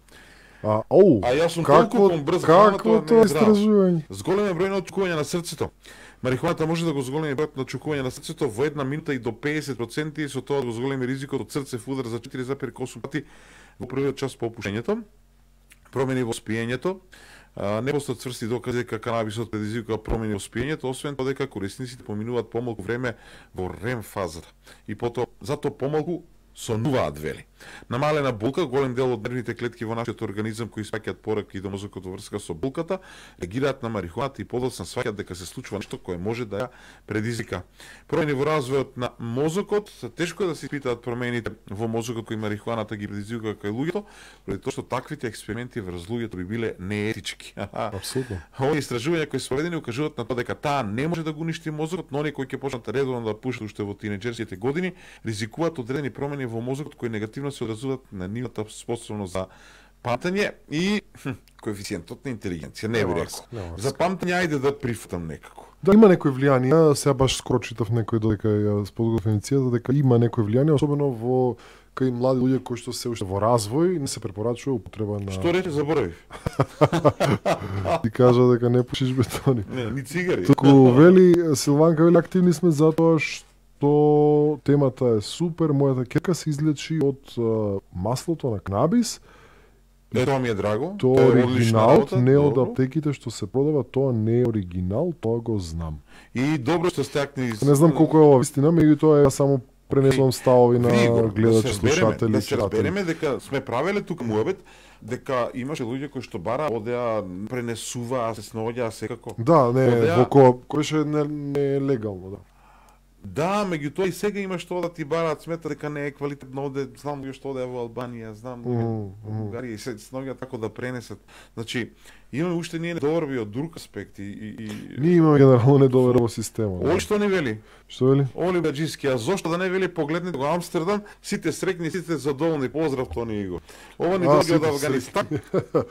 А, оу, а јас сум какво, толку кон брза храна, какво тоа тоа не е истражување? Зголемен број на очукување на срцето. Марихуаната може да го зголеми бројот на очукување на срцето во една минута и до педесет проценти, со тоа да го зголеми ризикот од срцев удар за четири зарез осум пати во првиот час по опушењето. Промени во спиењето. Не постојат цврсти докази дека канабисот предизвикува промени во спиењето, освен тоа дека корисниците поминуваат помалку време во рем фазата. И потоа затоа помалку сонуваат, вели. Намалена болка, голем дел од нервните клетки во нашиот организам кои сваќаат пораки до мозокот во врска со болката, реагираат на марихуаната и подоцна сваќаат дека се случува нешто кое може да ја предизвика. Промени во развојот на мозокот, тешко е да се испитаат промените во мозокот кои марихуаната ги предизвика кај луѓето, поради тоа што таквите експерименти врз луѓето би биле неетички. Апсолутно. Овие истражувања кои се проведени укажуваат на тоа дека таа не може да го уништи мозокот, но оние кои ќе почнат редовно да пушат уште во тинеџерските години, ризикуваат одредени промени во мозокот кои негативно се одразуваат на нивната способност за памтење и хм, коефициентот на интелигенција, не би рекол. За памтење ајде да прифатам некако. Да, има некои влијанија, сега баш скоро читав некој додека ја сподготвив емисијата, дека има некои влијанија, особено во кај млади луѓе кои што се уште во развој, не се препорачува употреба на... Што рече, заборавив? Ти кажа дека не пушиш бетони. Не, ни цигари. Туку вели, Силванка вели, активни сме затоа што темата е супер, мојата ќерка се излечи од а, маслото на канабис. Е, тоа ми е драго. Тоа е оригинал, не од добро. аптеките што се продава, тоа не е оригинал, тоа го знам. И добро што стакни... Не знам колку е ова вистина, меѓутоа ја само пренесувам ставови на Григор, гледачи, да се разбереме, слушатели, да се читатели. разбереме дека сме правеле тука муабет, дека имаше луѓе кои што бара, одеа, пренесуваа, се сноѓаа секако. Да, не, Одеа- во кој кој не, не е легално, да. Да, меѓутоа и сега има што да ти бараат, смета дека не е квалитетно, оде, знам луѓе што одеа во Албанија, знам луѓе Мгм, во Бугарија и се сноѓа тако да пренесат. Значи, имаме уште ние недоверби од друг аспект и, и, и... Ние имаме генерално недоверба во системот. Оли што не вели? Што вели? Оли Баџиски, а зошто да не вели погледнете го Амстердам, сите срекни, сите задоволни, поздрав Тони Иго. Ова ни А, доаѓа од сите Афганистан.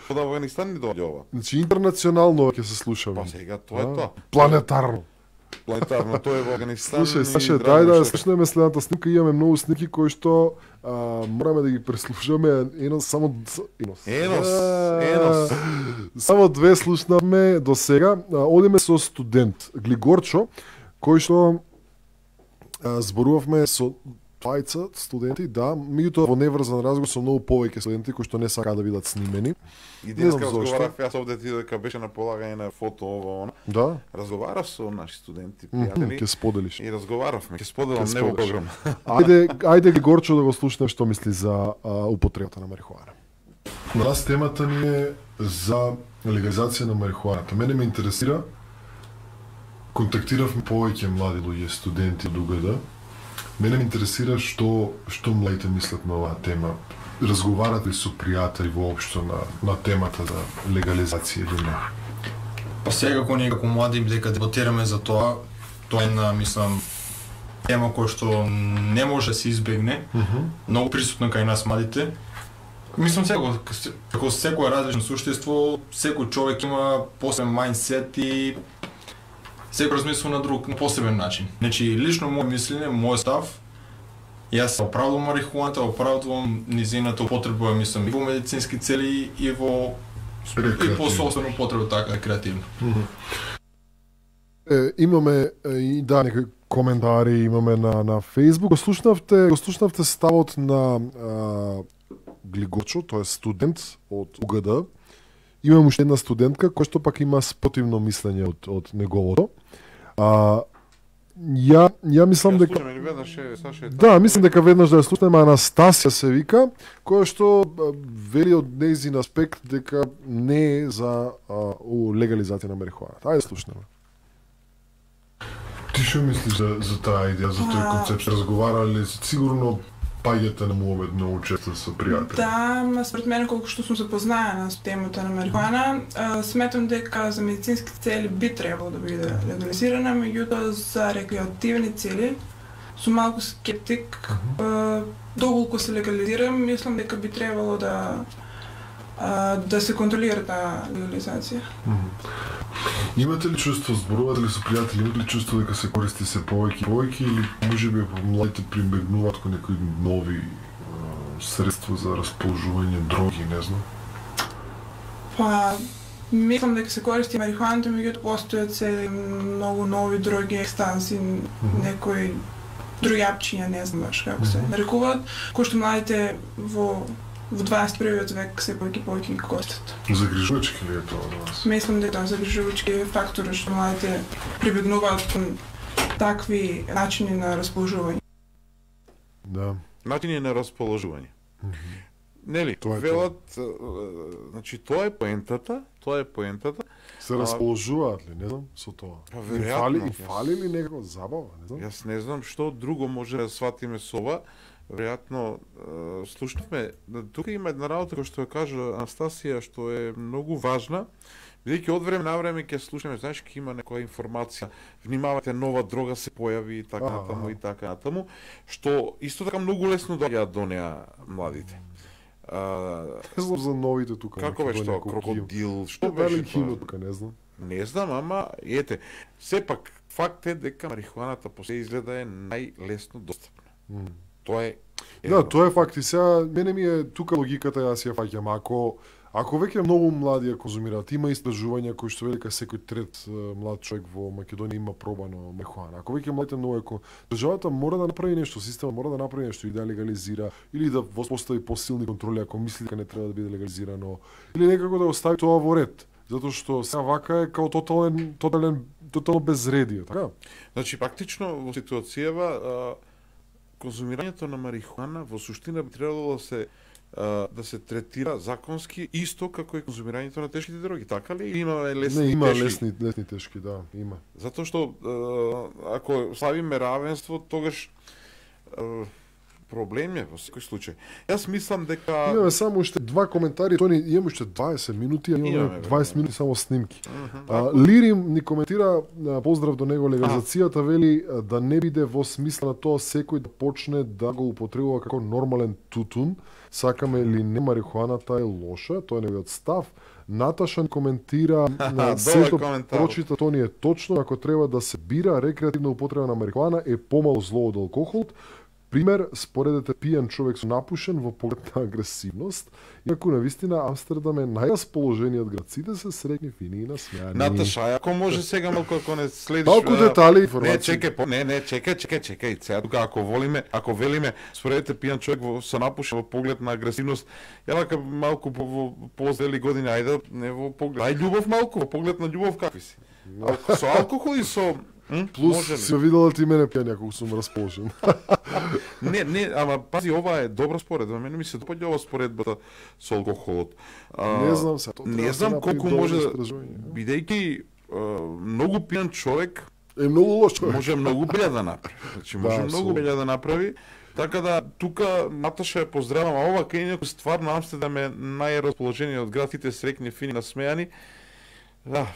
Од Афганистан ни доаѓа ова. Значи интернационално ќе се слушаме. Па сега тоа е тоа. Планетарно. Планетарно, тоа е во Афганистан. Слушај, и Саше, драго дај да што- слушнеме следната снимка, имаме многу снимки кои што а, мораме да ги преслушаме, едно само енос. Енос, А, енос. Само две слушнавме до сега. А, Одиме со студент Глигорчо, кој што а, зборувавме со двајца студенти, да, меѓутоа во неврзан разговор со многу повеќе студенти кои што не сакаат да бидат снимени. И Не денеска знам зошто. разговарав јас овде ти дека беше на полагање на фото ова она. Да, Разговарав со наши студенти, мгм, пријатели. ќе споделиш. И разговаравме, ќе споделам Ќе не во споделиш. програм. Ајде, ајде Глигорчо да го слушнем што мисли за а, употребата на марихуана. На нас темата ни е за легализација на марихуаната. Мене ме интересира, контактиравме повеќе млади луѓе, студенти од УГД. Мене ме интересира што што младите мислат на оваа тема. Разговарат ли со пријатели воопшто на на темата за легализација или не? Па секако ние како млади дека дебатираме за тоа, тоа е една, мислам, тема која што не може да се избегне, многу присутна кај нас младите. Мислам секако, како секое различно суштество, секој човек има посебен мајндсет и секој размислува на друг, на посебен начин. Значи, лично моје мислење, мој став, јас оправдувам марихуаната, оправдувам низината употреба, мислам, и во медицински цели и во и Рекреативно. по собствена употреба, така, рекреативно. Е, имаме е, и да некои коментари имаме на на Facebook. Го слушнавте, го слушнавте ставот на а, Глигорчо, тој е студент од УГД. Имам уште една студентка која што пак има спротивно мислење од од неговото. А, ја ја мислам дека Слушаме ли веднаш е Саше? да, мислам дека веднаш да ја слушнеме, Анастасија се вика, која што а, вели од нејзин аспект дека не е за а, у легализација на марихуаната. Ајде слушнеме. Ти што мислиш за, за таа идеја, за тој А. концепт? Разговарале сигурно паѓате на муабет многу често со пријатели. Да, ма според мене колку што сум запознаена с темата на марихуана, а, сметам дека за медицински цели би требало да биде легализирана, меѓутоа за рекреативни цели сум малку скептик. А, доколку се легализира, мислам дека би требало да а, да се контролира таа легализација. Имате ли чувство, зборувате ли со пријатели, имате ли чувство дека се користи се повеќе и повеќе или можеби младите прибегнуваат кон некои нови а, средства за расположување, дроги, не знам? Па, мислам дека се користи марихуаната, меѓутоа постојат се многу нови дроги, екстанси, некои друјапчиња, не знам баш како се нарекуваат, кои што младите во во дваесет и првиот век се повеќе и повеќе ги користат. Загрижувачки ли е тоа за вас? Мислам дека тоа загрижувачки е фактор што младите прибегнуваат кон такви начини на расположување. Да. Начини на расположување. Нели, Тоа е велат, е, значи тоа е поентата, тоа е поентата. Се расположуваат ли, не знам, со тоа? Па, Им веројатно, фали, им јас- фали ли некако забава, не знам? Јас не знам што друго може да сватиме со ова. Веројатно, е, слушнавме, да, тука има една работа која што ја кажа Анастасија, што е многу важна, бидејќи од време на време ќе слушаме, знаеш, ќе има некоја информација, внимавајте, нова дрога се појави и така Аха, натаму аха. и така натаму, што исто така многу лесно доаѓаат до неа младите. А, Не знам за новите тука. како беше Македонија, тоа, колку ги има. крокодил, што Дали беше кино тоа? тука, не знам. Не знам, ама ете, сепак факт е дека марихуаната по се изгледа е најлесно достапна. М. Тоа е Да, тоа е факт и сега мене ми е тука логиката, јас ја фаќам. Ако ако веќе многу млади ја конзумираат, има истражувања кои што велика секој трет е, млад човек во Македонија има пробано марихуана. Ако веќе младите многу е, државата мора да направи нешто, системот мора да направи нешто и да легализира или да воспостави посилни контроли ако мисли дека не треба да биде легализирано или некако да остави тоа во ред. Затоа што сега вака е као тотален тотален тотално безредие, така? Значи, практично во ситуацијава а, конзумирањето на марихуана во суштина би требало да се а, да се третира законски исто како и конзумирањето на тешките дроги, така ли? Или има лесни Не, има тешки? лесни лесни тешки, да, има. Затоа што а, ако славиме равенство, тогаш а, проблем е во секој случај. Јас мислам дека Имаме само уште два коментари, тоа ни имаме уште дваесет минути, а имаме Имаме, дваесет да. минути само снимки. Мгм, А, Лирим ни коментира, а, поздрав до него, легализацијата вели а, да не биде во смисла на тоа секој да почне да го употребува како нормален тутун, сакаме или не марихуаната е лоша, тоа е неговиот став. Наташа ни коментира на Добар се што коментар. прочита тоа ни е точно, ако треба да се бира рекреативна употреба на марихуана е помало зло од алкохол. Пример, споредете пијан човек со напушен во поглед на агресивност, иако на вистина Амстердам е најрасположениот град. Сите се среќни, фини и насмеани. Наташа, ако може сега малку ако не следиш Малку а, детали, Не, информации. чекај, по, не, не, чекај, чекај, чекај. Сега тука ако волиме, ако велиме, споредите пијан човек во со напушен во поглед на агресивност, ја вака малку по, во позрели години, ајде, не во поглед. Ај љубов малку, во поглед на љубов какви си? Ал- Со алкохол и со м? Плюс Може ли? си видела ти мене пијан ако сум расположен. Не, не, ама пази, ова е добра споредба. Мене ми се допаѓа ова споредбата со алкохолот. А, Не знам се, тоа треба Не да се знам направи колку добро може, да- истражување. бидејќи а, многу пијан човек Е многу лошо. може многу белја да направи. Значи Да, може многу апсолутно. белја да направи. Така да тука Наташа ја поздравам, а ова кај некој стварно Амстердам е најрасположениот град, сите среќни, фини, насмеани. Да,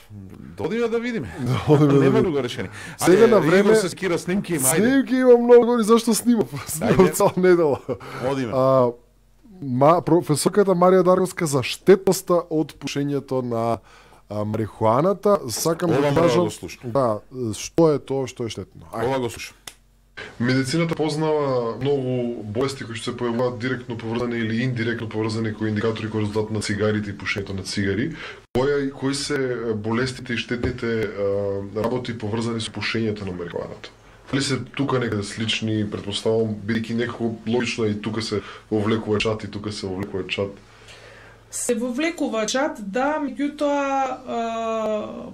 додиме да видиме. Одиме да Нема видиме. друго решение. Сега Ајде, на време- Игор се скира снимки, има, ајде. Снимки има многу, дори зашто снимав? Снимав Ајде. цела недела. Одиме. А, ма, професорката Марија Дарковска за штетноста од пушењето на а, марихуаната, сакам Ова да мора да кажам, го слушам. да, што е тоа што е штетно. Ајде. Ова го слушам. Медицината познава многу болести кои што се појавуваат директно поврзани или индиректно поврзани кои индикатори кои резултат на цигарите и пушењето на цигари. Која кои се болестите и штетните а, работи поврзани со пушењето на марихуаната? Дали се тука некаде слични, претпоставувам, бидејќи некако логично е и тука се вовлекува чат и тука се вовлекува чат. Се вовлекува чат, да, меѓутоа, а,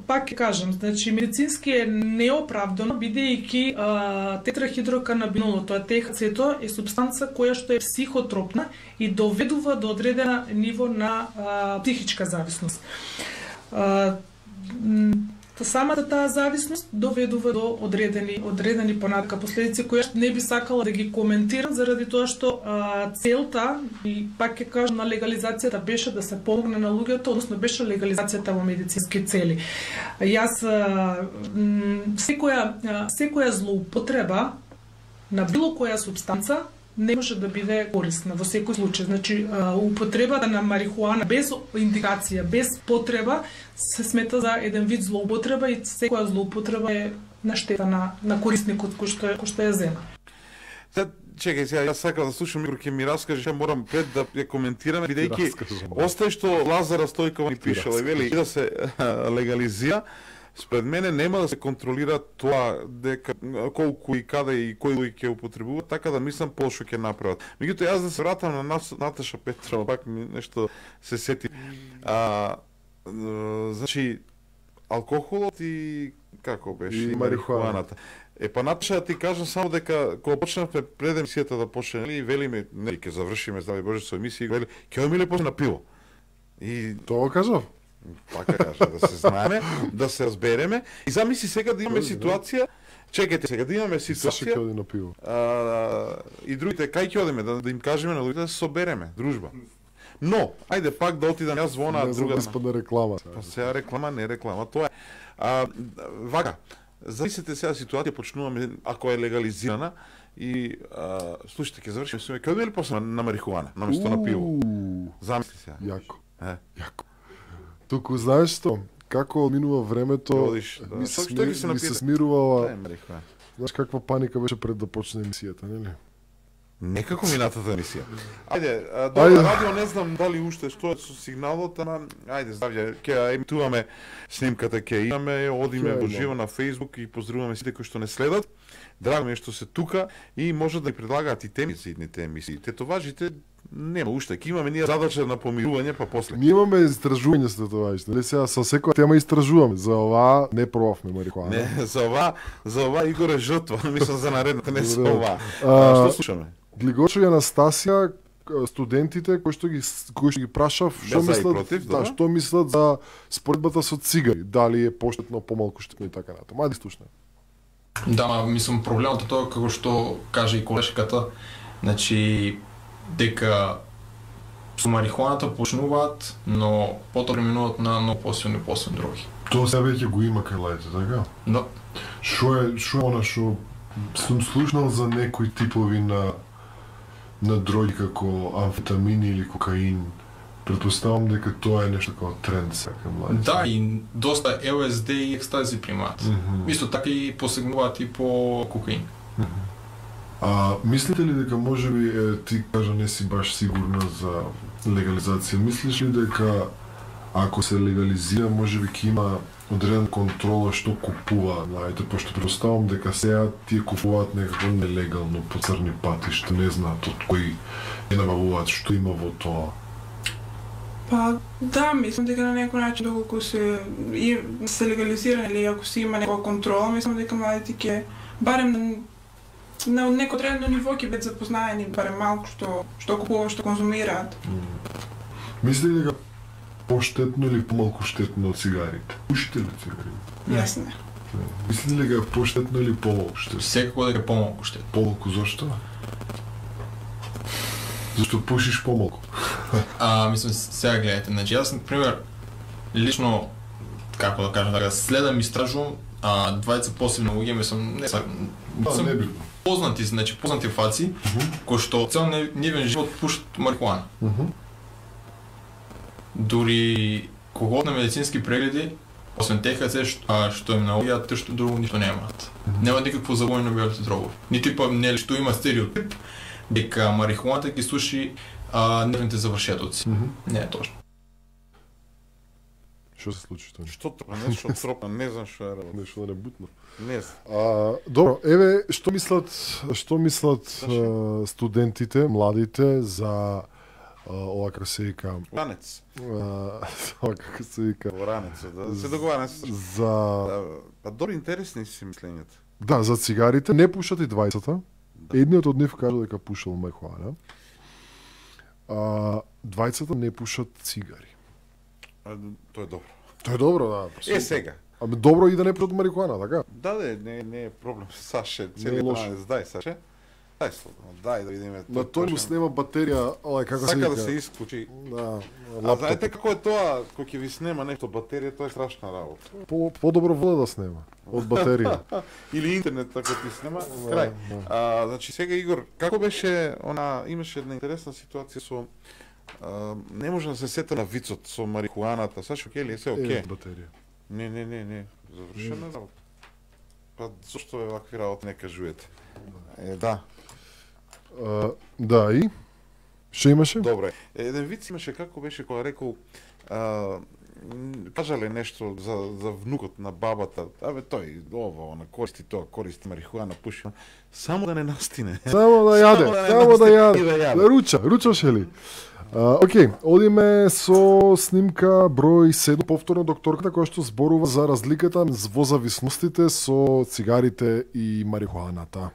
пак ќе кажам, значи медицински е неоправдано, бидејќи а, тетрахидроканабинолот, тоа Т Х Ц-то е супстанца која што е психотропна и доведува до одредена ниво на а, психичка зависност. А, м, самата таа зависност доведува до одредени одредени понатака последици кои не би сакала да ги коментирам заради тоа што а, целта и пак ќе кажам на легализацијата беше да се помогне на луѓето, односно беше легализацијата во медицински цели. Јас а, м, секоја а, секоја злоупотреба на било која супстанца не може да биде корисна во секој случај. Значи, а, употребата на марихуана без индикација, без потреба, се смета за еден вид злоупотреба и секоја злоупотреба е на штета на, на корисникот кој што е, кој што ја зема. Сега, чекај, сега јас сакам да слушам Игор ќе ми раскаже, ќе морам пред да ја коментираме, бидејќи раскажам. остај што Лазара Стојкова ни пишела и вели и да се легализира. Спред мене нема да се контролира тоа дека колку и каде и кој луѓе ќе употребуваат, така да мислам пошто ќе направат. Меѓутоа јас да се вратам на нас, Наташа Петрова, пак ми нешто се сети. А, значи алкохолот и како беше И и марихуаната. Е па Наташа ти кажам само дека кога почнавме пред емисијата да почне, нели, велиме, нели ќе завршиме здраве Боже со емисија, вели ќе одиме после на пиво. И Тоа кажав. така кажа, да се знаеме, да се разбереме. И замисли сега да имаме ситуација, чекайте сега да имаме Саша ќе ситуација, оди на пиво. а, и другите кај ќе одиме да, да им кажеме на луѓето да се собереме, дружба. Но, ајде пак да отидам јас во она Не знам друга. да испадне реклама. Па сега реклама, не реклама, тоа е. А, вака, замислете сега ситуација, почнуваме, ако е легализирана, и а, слушайте, ќе завршиме со ќе одиме ли после на, на марихуана, наместо на пиво? Уу, Замисли сега. Јако. Е. Јако. Туку знаеш што? Како минува времето, Ќе одиш, да. ми се, Што- што ќе смир, се ми се напиете? смирувала. Е, марихуана. Знаеш каква паника беше пред да почне емисијата, нели? Некако минатата емисија. Ајде, а, Ајде. добро, радио не знам дали уште што е со сигналот, ама ајде, здравје, ќе емитуваме снимката, ќе имаме, одиме Ќе во имаме. живо на Facebook и поздравуваме сите кои што не следат. Драго ми е што се тука и може да ни предлагаат и теми за идните емисии. Тетоважите нема уште, ќе имаме ние задача на помирување, па после. Ние имаме истражување со тетоважите, нели сега со секоја тема истражуваме. За ова не пробавме марихуана. Не, за ова, за ова Игор е жртва, мислам за наредната, не за Добре. ова. А, А, што слушаме? Глигочо и Анастасија, к- студентите кои што ги кои што ги прашав што Без за и мислат, против, да, добро. што мислат за споредбата со цигари, дали е поштетно, помалку штетно и така натаму. Ајде слушне. Да, ма, мислам, проблемот е тоа како што каже и колешката, значи дека со марихуаната почнуваат, но потоа преминуваат на многу посилни посилни дроги. Тоа сега веќе го има кај лајте, така? Да. Шо е, шо е она што сум слушнал за некои типови на на дроги како амфетамини или кокаин. Претпоставам дека тоа е нешто како тренд сега кај младите. Да, и доста Ел Ес Ди и екстази примаат. Мгм. Исто така и посегнуваат и по кокаин. А мислите ли дека можеби е, ти кажа не си баш сигурна за легализација? Мислиш ли дека ако се легализира можеби ќе има одреден контрола што купува, знаете, пошто предоставам дека сега тие купуваат некако нелегално по црни патишта, не знаат од кои не набавуваат, што има во тоа. Па да, мислам дека на некој начин доколку се и се легализира или ако се има некоја контрола, мислам дека младите ќе барем на на неко одредено ниво ќе бидат запознаени барем малку што што купуваат, што конзумираат. Мислите ли дека поштетно или помалку штетно од цигарите? Пушите ли цигари? Јас не. Мислите ли дека е поштетно или помалку штетно? Секако дека е помалку штет. Помалку зошто? Зашто пушиш помалку? А, мислам, сега гледате, значи јас, например, лично, како да кажам, така, следам и истражувам, а двајца посебно луѓе, мислам, не са, Да, мислам, не битно. познати, значи познати фаци, кои што цел не- нивен живот пушат марихуана. Дури кога на медицински прегледи, освен Т Х Ц, што, а, што им наоѓаат, те што друго ништо немаат. Нема никакво завојно на белите дрогови. Нити па нели што има стереотип дека марихуаната ги суши а, нервните завршетоци. Не е точно. Што се случи тоа? Што тоа, нешто тропна, не знам што е работа. Нешто да не бутно. Не знам. А, добро, еве што мислат што мислат а, студентите, младите за а, ова како се вика, Ранец. а, ова како се вика, Во ранец, да се договараме се. за Да, па добро интересни си мислењата. да, за цигарите не пушат и двајцата. Едниот од нив кажа дека пушал марихуана. А двајцата не пушат цигари. А, тоа е добро. Тоа е добро, да. Е сега. Ами добро и да не пушат марихуана, така? Да, не, не, не е проблем. Саше, Не е цели лошо. ранец, дај Саше. Дај слободно, дај да видиме. На тој му снема батерија, ова како се Сака вика. да се исклучи. Да, А лаптоп. знаете како е тоа, кога ќе ви снема нешто батерија, тоа е страшна работа. По, подобро вода да снема од батерија. Или интернет ако ти снема, крај. А, значи сега Игор, како беше она, имаше една интересна ситуација со а, не може да се сета на вицот со марихуаната. Саш окей ли е се окей? Е, батерија. Не, не, не, не. Завршена работа. Па зошто е вакви работи не кажувате? Е, да. А, да, и? Што имаше? Добре. Еден виц имаше како беше кога рекол а, кажале нешто за, за внукот на бабата, абе тој ова, она користи тоа, користи марихуана, пуши, само да не настине. Само да јаде, Само да не само да настине јаде. и да јаде. Да руча, ручаше ли? Uh, Океј, одиме со снимка број седум, повторно докторката која што зборува за разликата во зависностите со цигарите и марихуаната.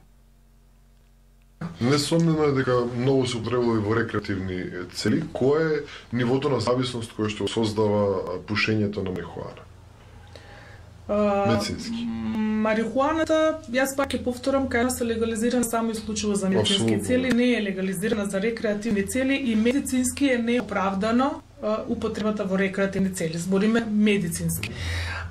Несомнено е дека многу се употребува во рекреативни цели. Кој е нивото на зависност кој што создава пушењето на марихуана? Медицински. Марихуаната, јас пак ќе повторам, кај нас е легализирана само исклучиво за медицински цели, не е легализирана за рекреативни цели и медицински е неоправдано употребата во рекреативни цели. Збориме медицински.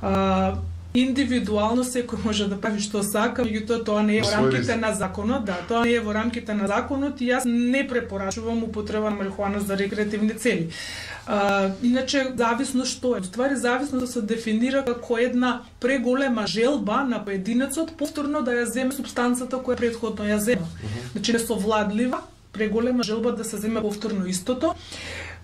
А, индивидуално секој може да прави што сака, меѓутоа тоа не е во рамките на законот, да, тоа не е во рамките на законот и јас не препорачувам употреба на марихуана за рекреативни цели. А, иначе зависност што е? Ствари зависност се дефинира како една преголема желба на поединецот повторно да ја земе супстанцата која претходно ја зема. Значи несовладлива, преголема желба да се земе повторно истото.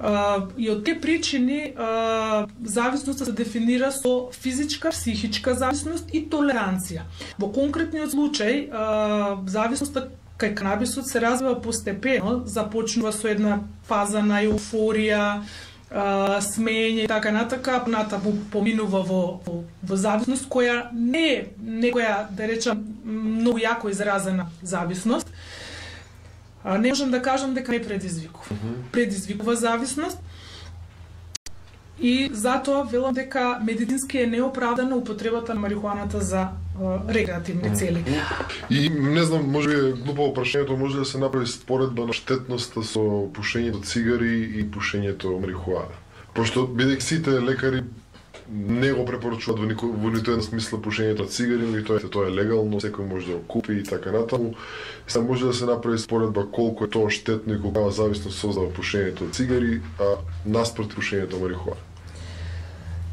Uh, и од тие причини uh, зависноста се дефинира со физичка, психичка зависност и толеранција. Во конкретниот случај, uh, зависноста кај канабисот се развива постепено, започнува со една фаза на еуфорија, uh, смење и така натака, натаму поминува во, во, во зависност која не е некоја, да речам, многу јако изразена зависност. А, не можам да кажам дека не предизвикува. Uh-huh. Предизвикува зависност и затоа велам дека медицински е неоправдана употребата на марихуаната за а, рекреативни цели. И не знам, може би е глупаво прашањето, може да се направи споредба на штетноста со пушењето цигари и пушењето марихуана. Пошто бидејќи сите лекари не го препорачуваат во, нико, во нито една смисла пушењето на цигари, но и тоа, тоа е легално, секој може да го купи и така натаму. Сега може да се направи споредба колку е тоа штетно и колкава зависност создава пушењето на цигари, а наспроти пушењето на марихуана.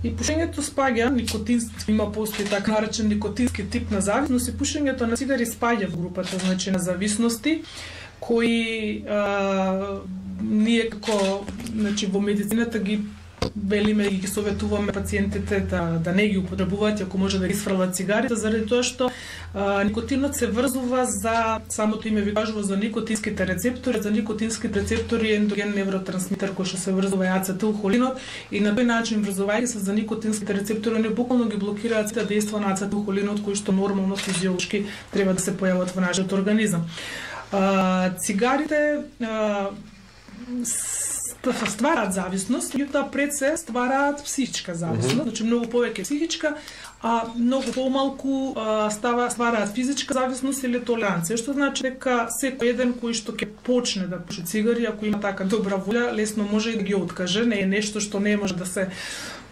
И пушењето спаѓа никотински, има постои така наречен никотински тип на зависност и пушењето на цигари спаѓа во групата, значи на зависности кои а, ние како, значи во медицината ги велиме и ги советуваме пациентите да, да не ги употребуваат, ако може да ги сфрлат цигарите, заради тоа што а, никотинот се врзува за, самото име ви кажува, за никотинските рецептори, за никотинските рецептори е ендоген невротрансмитер кој што се врзува и ацетилхолинот и на тој начин врзувајќи се за никотинските рецептори, не буквално ги блокираат сите дејства на ацетилхолинот кои што нормално физиолошки треба да се појават во нашиот организам. А, цигарите а, ствараат зависност, меѓутоа пред се ствараат психичка зависност, uh-huh. значи многу повеќе психичка, а многу помалку а, става ствараат физичка зависност или толеранција, што значи дека секој еден кој што ќе почне да пуши цигари, ако има така добра волја, лесно може и да ги откаже, не е нешто што не може да се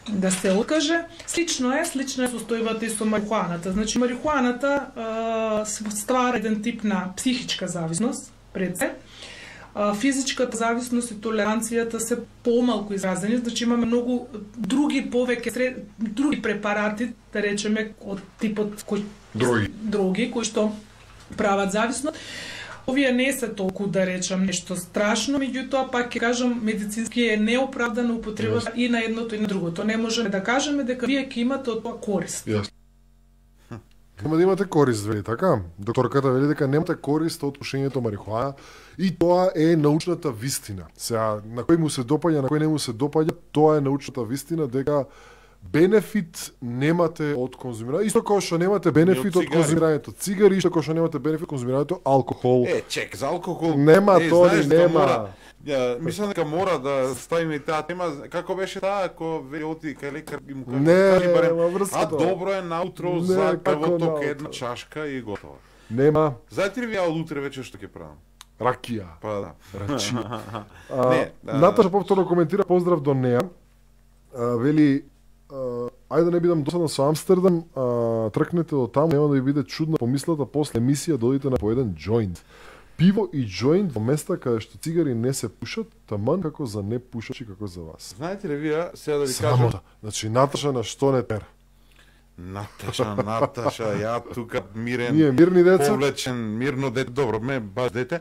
да се откаже. Слично е, слично е состојбата и со марихуаната. Значи марихуаната а, ствара еден тип на психичка зависност пред се. Физичката зависност и толеранцијата се помалку изразени, значи имаме многу други повеќе други препарати, да речеме од типот кои други други кои што прават зависност. Овие не се толку, да речам, нешто страшно, меѓутоа пак ќе кажам медицински е неоправдана употребата yes. и на едното и на другото. Не можеме да кажеме дека вие ќе имате од тоа корист. Yes. Нема да имате корист, вели така? Докторката вели дека немате корист од пушењето марихуана и тоа е научната вистина. Сега, на кој му се допаѓа, на кој не му се допаѓа, тоа е научната вистина дека бенефит немате од конзумирање. Исто како што немате бенефит од конзумирањето цигари, исто како што немате бенефит од конзумирањето алкохол. Е, чек, за алкохол. Нема, е, тоа знаеш, нема. Мора, ја, мислам дека мора да ставиме и таа тема. Како беше таа, ако вели оти кај лекар и му кажи, кажи барем, а добро е наутро не, за крвоток наутро. една чашка и готово. Нема. Знаете ли вие од утре вечер што ќе правам? Ракија. Па да. Рачи. а, не, а... Наташа повторно коментира, поздрав до неа. А, вели, а, ајде да не бидам досадна со Амстердам, а, тркнете до таму, нема да ви биде чудна помислата после емисија да одите на по еден џоинт. Пиво и џоинт во места каде што цигари не се пушат, таман како за не пушачи како за вас. Знаете ли вие, сега да ви Срамота. кажам... Значи, Наташа на што не тера? Наташа, Наташа, ја тука мирен, Ние мирни деца. повлечен, мирно дете, добро, ме баш дете.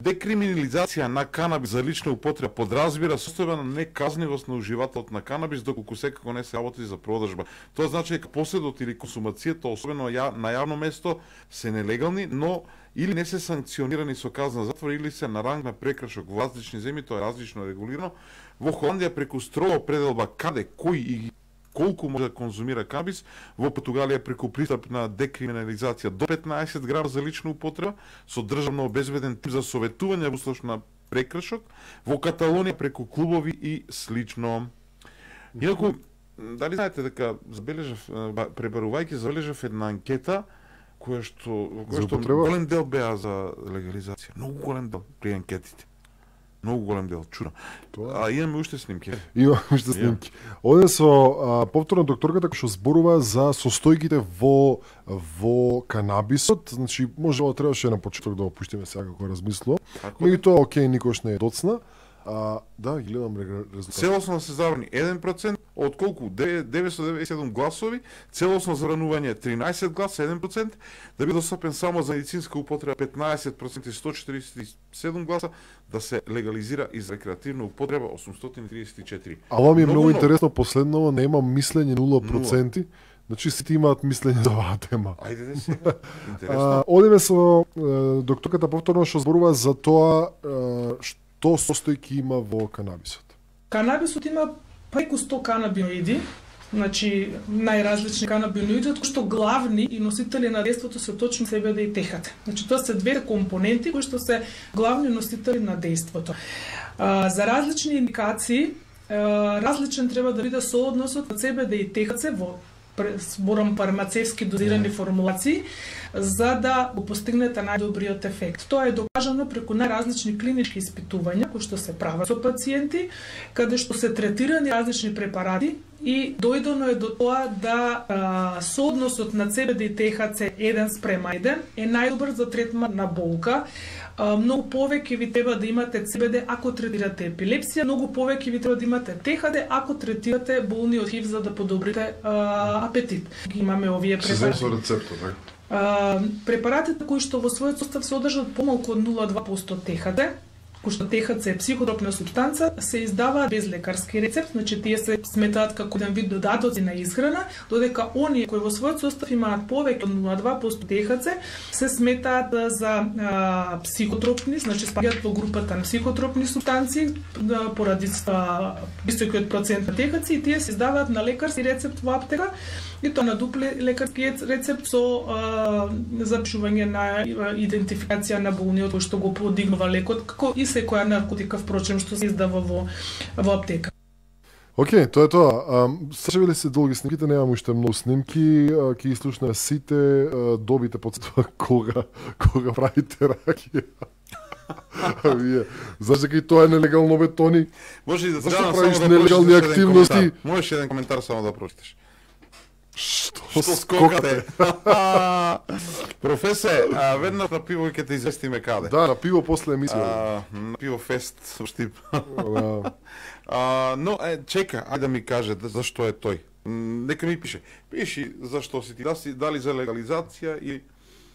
Декриминализација на канабис за лична употреба подразбира состојба на неказнивост на уживателот на канабис, доколку секако не се работи за продажба. Тоа значи дека поседот или консумацијата, особено ја, на јавно место, се нелегални, но или не се санкционирани со казна затвор, или се на ранг на прекршок во различни земји, тоа е различно регулирано. Во Холандија преку строго определба каде, кој и колку може да конзумира канабис, во Португалија преку пристап на декриминализација до петнаесет грама за лична употреба, со државно обезбеден тим за советување во случај на прекршок, во Каталонија преку клубови и слично. Инаку, дали знаете дека забележав, пребарувајќи забележав една анкета која што, која што голем дел беа за легализација, многу голем дел при анкетите. Многу голем дел, чудно. А имаме уште снимки. Имаме уште снимки. Оде со а, повторно докторката која што зборува за состојките во во канабисот, значи може да требаше на почеток да опуштиме сега како размислува. Меѓутоа окей, никош не е доцна. А, да, ги гледам резултат. Целосно се забрани еден процент, од колку деветстотини деведесет и седум гласови, целосно забранување тринаесет гласа, еден процент, да биде достапен само за медицинска употреба петнаесет проценти, сто четиридесет и седум гласа, да се легализира и за рекреативна употреба осумстотини триесет и четири. А ова ми е многу, многу интересно, последново нема мислење нула проценти. Значи сите имаат мислење за оваа тема. Ајде да се. Интересно. Одиме со е, докторката повторно што зборува за тоа е, што состојки има во канабисот. Канабисот има преку сто канабиноиди, значи најразлични канабиноиди, од кои што главни и носители на дејството се точно C B D и T H C. Значи тоа се две компоненти кои што се главни носители на дејството. А, за различни индикации, а, различен треба да биде соодносот на C B D и T H C во зборам фармацевски дозирани формулации, за да го постигнете најдобриот ефект. Тоа е докажано преку најразлични клинички испитувања кои што се прават со пациенти, каде што се третирани различни препарати и дојдено е до тоа да а, соодносот на C B D и T H C еден спрема еден е најдобар за третман на болка. Uh, многу повеќе ви треба да имате C B D ако третирате епилепсија, многу повеќе ви треба да имате T H C ако третирате болни од H I V за да подобрите uh, апетит. Имаме овие препарати. Се со рецептот, така. Uh, препаратите кои што во својот состав се одржат помалку од нула целу две проценти T H C, кој што T H C е психотропна супстанца, се издаваат без лекарски рецепт, значи тие се сметаат како еден вид додатоци на исхрана, додека оние кои во својот состав имаат повеќе од нула целу две проценти T H C се сметаат за а, психотропни, значи спаѓаат во групата на психотропни супстанции да, поради високиот процент на T H C и тие се издаваат на лекарски рецепт во аптека и тоа на дупле лекарски рецепт со а, запишување на идентификација на болниот кој што го подигнува лекот, како и секоја наркотика впрочем што се издава во во аптека. Океј, тоа е тоа. Сачевиле се долги снимките, немам уште многу снимки, ќе ги слушнеме сите, добите подсетува кога кога правите ракија. Вие, зашто дека и тоа е нелегално бе, Тони? Може и да зашто правиш само да нелегални активности? Можеш еден коментар само да прочиташ. Што, Што скокате? Професе, а, веднаш на пиво ќе те известиме каде. Да, на пиво после емисија. А, на пиво фест со Штип. А, но, е, чека, ајде да ми каже зашто е тој. Нека ми пише. Пиши зашто си ти, да си, дали за легализација и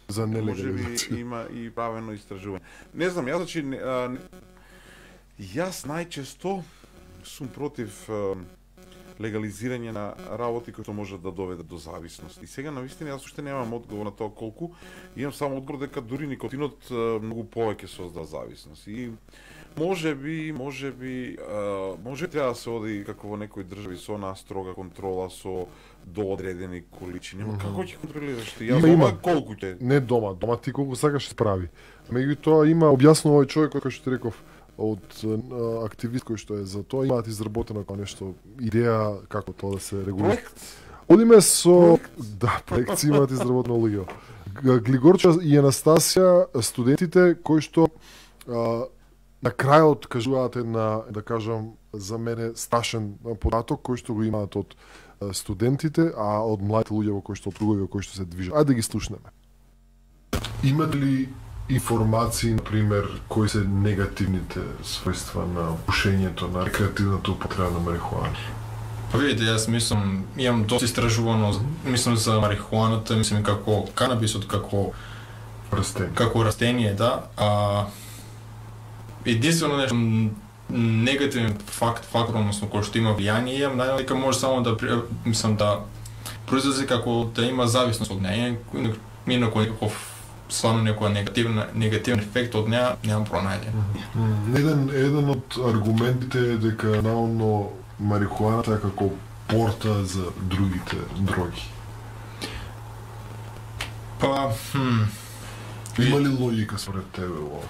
за нелегализација. Може би има и правено истражување. Не знам, јас значи а, не, јас најчесто сум против а, легализирање на работи кои што можат да доведат до зависност. И сега навистина јас уште немам одговор на тоа колку, имам само одговор дека дури никотинот а, многу повеќе создава зависност. И може би, може би, а, може треба да се оди како во некои држави со она строга контрола со доодредени количини. Mm -hmm. Како ќе контролираш ти? Јас има, има. Колку ќе? Не дома, дома ти колку сакаш справи. Меѓутоа има објаснува овој човек кој што ти реков од а, активист кој што е за тоа, имаат изработено како нешто идеја како тоа да се регулира. Проект? Одиме со проект. Да, проект имаат изработено луѓе. Глигорча и Анастасија, студентите кои што а, на крајот кажуваат една, да кажам, за мене страшен податок кој што го имаат од студентите, а од младите луѓе во кои што опругови, во кои што се движат. Ајде да ги слушнеме. Имате ли информации, например, кои се негативните својства на пушењето, на рекреативната употреба на марихуана? Па видите, јас мислам, имам доста истражувано, мислам за марихуаната, мислам и како канабисот, како Растение. како растение, да. А единствено нешто негативен факт, фактор, односно кој што има влијание, имам најден дека може само да мислам да произлезе како да има зависност од неја, инаку некаков стварно некоја негативна негативен ефект од неја немам пронајден. Еден еден од аргументите е дека наонно марихуаната е како порта за другите дроги. Па, хм, Има ли логика според тебе ова?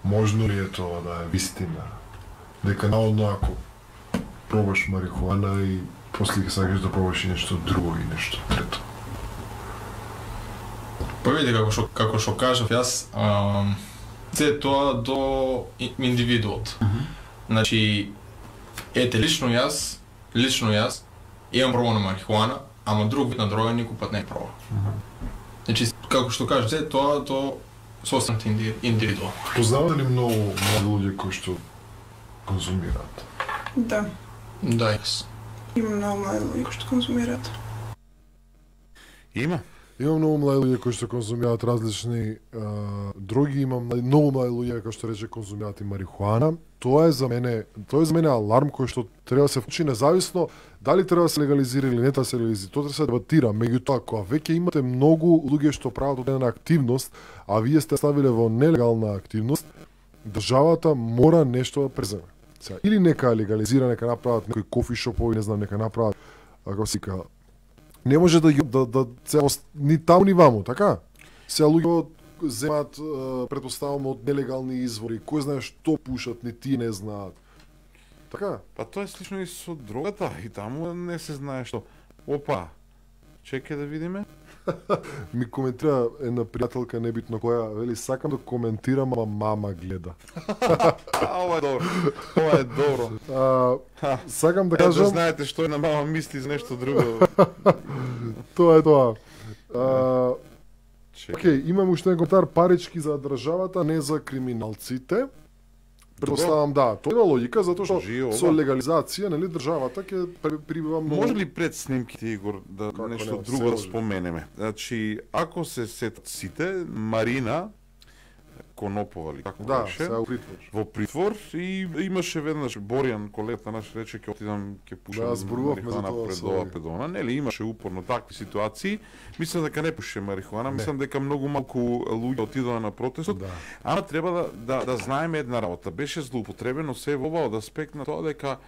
Можно ли е тоа да е вистина? Дека наодно ако пробаш марихуана и после ќе сакаш да пробаш и нешто друго и нешто трето. па видите како што како што кажав јас, ам, се тоа до и- индивидуот. Значи, ете лично јас, лично јас имам пробано марихуана, ама друг вид на дрога никој пат не е пробал. Значи, како што кажеш, се тоа до состанат индивидуал. Познавате ли многу млади луѓе кои што конзумираат? Да, Да, јас. има многу млади луѓе кои што конзумираат. Има. Има многу млади луѓе кои што конзумираат различни а, дроги, има млади- многу млади луѓе кои што рече конзумираат и марихуана. Тоа е за мене, тоа е за мене аларм кој што треба да се вклучи независно дали треба да се легализира или не треба да се легализира. Тоа треба да се дебатира, меѓутоа кога веќе имате многу луѓе што прават одредена активност, а вие сте ставиле во нелегална активност, државата мора нешто да преземе. Сега, или нека легализира, нека направат некои кофи шопови, не знам, нека направат, како се вика, не може да, ги- да, да се ост- ни таму ни ваму, така? Сега луѓе земаат, е, претпоставам, од нелегални извори, кој знае што пушат, ни тие не знаат. Така? Па тоа е слично и со дрогата, и таму не се знае што. Опа, чекај да видиме. Ми коментира една пријателка, небитно која, вели, сакам да коментирам, ама мама гледа. А, ова е добро. Ова е добро. А, сакам да Е, да кажам, знаете што е на мама мисли за нешто друго. тоа е тоа. А, Чекај. Океј, имам уште еден коментар, парички за државата, не за криминалците. Предпоставам да, тоа има логика затоа што Живо, со да. легализација, нели, државата ќе при- прибива многу. Може ли пред снимките, Игор, да Како нешто не, друго се да може. споменеме? Значи, ако се сетат сите, Марина Конопова ли како Да, беше? сега у притвор. Во притвор и имаше веднаш Боријан, колегата наш, рече ќе отидам ќе пушам Да, зборувавме за марихуана тоа пред со ова овој. педона. Нели имаше упорно такви ситуации. Мислам дека не пуше марихуана, мислам дека многу малку луѓе отидоа на протестот. Да. Ама треба да, да, да знаеме една работа. Беше злоупотребено се во ова од аспект на тоа дека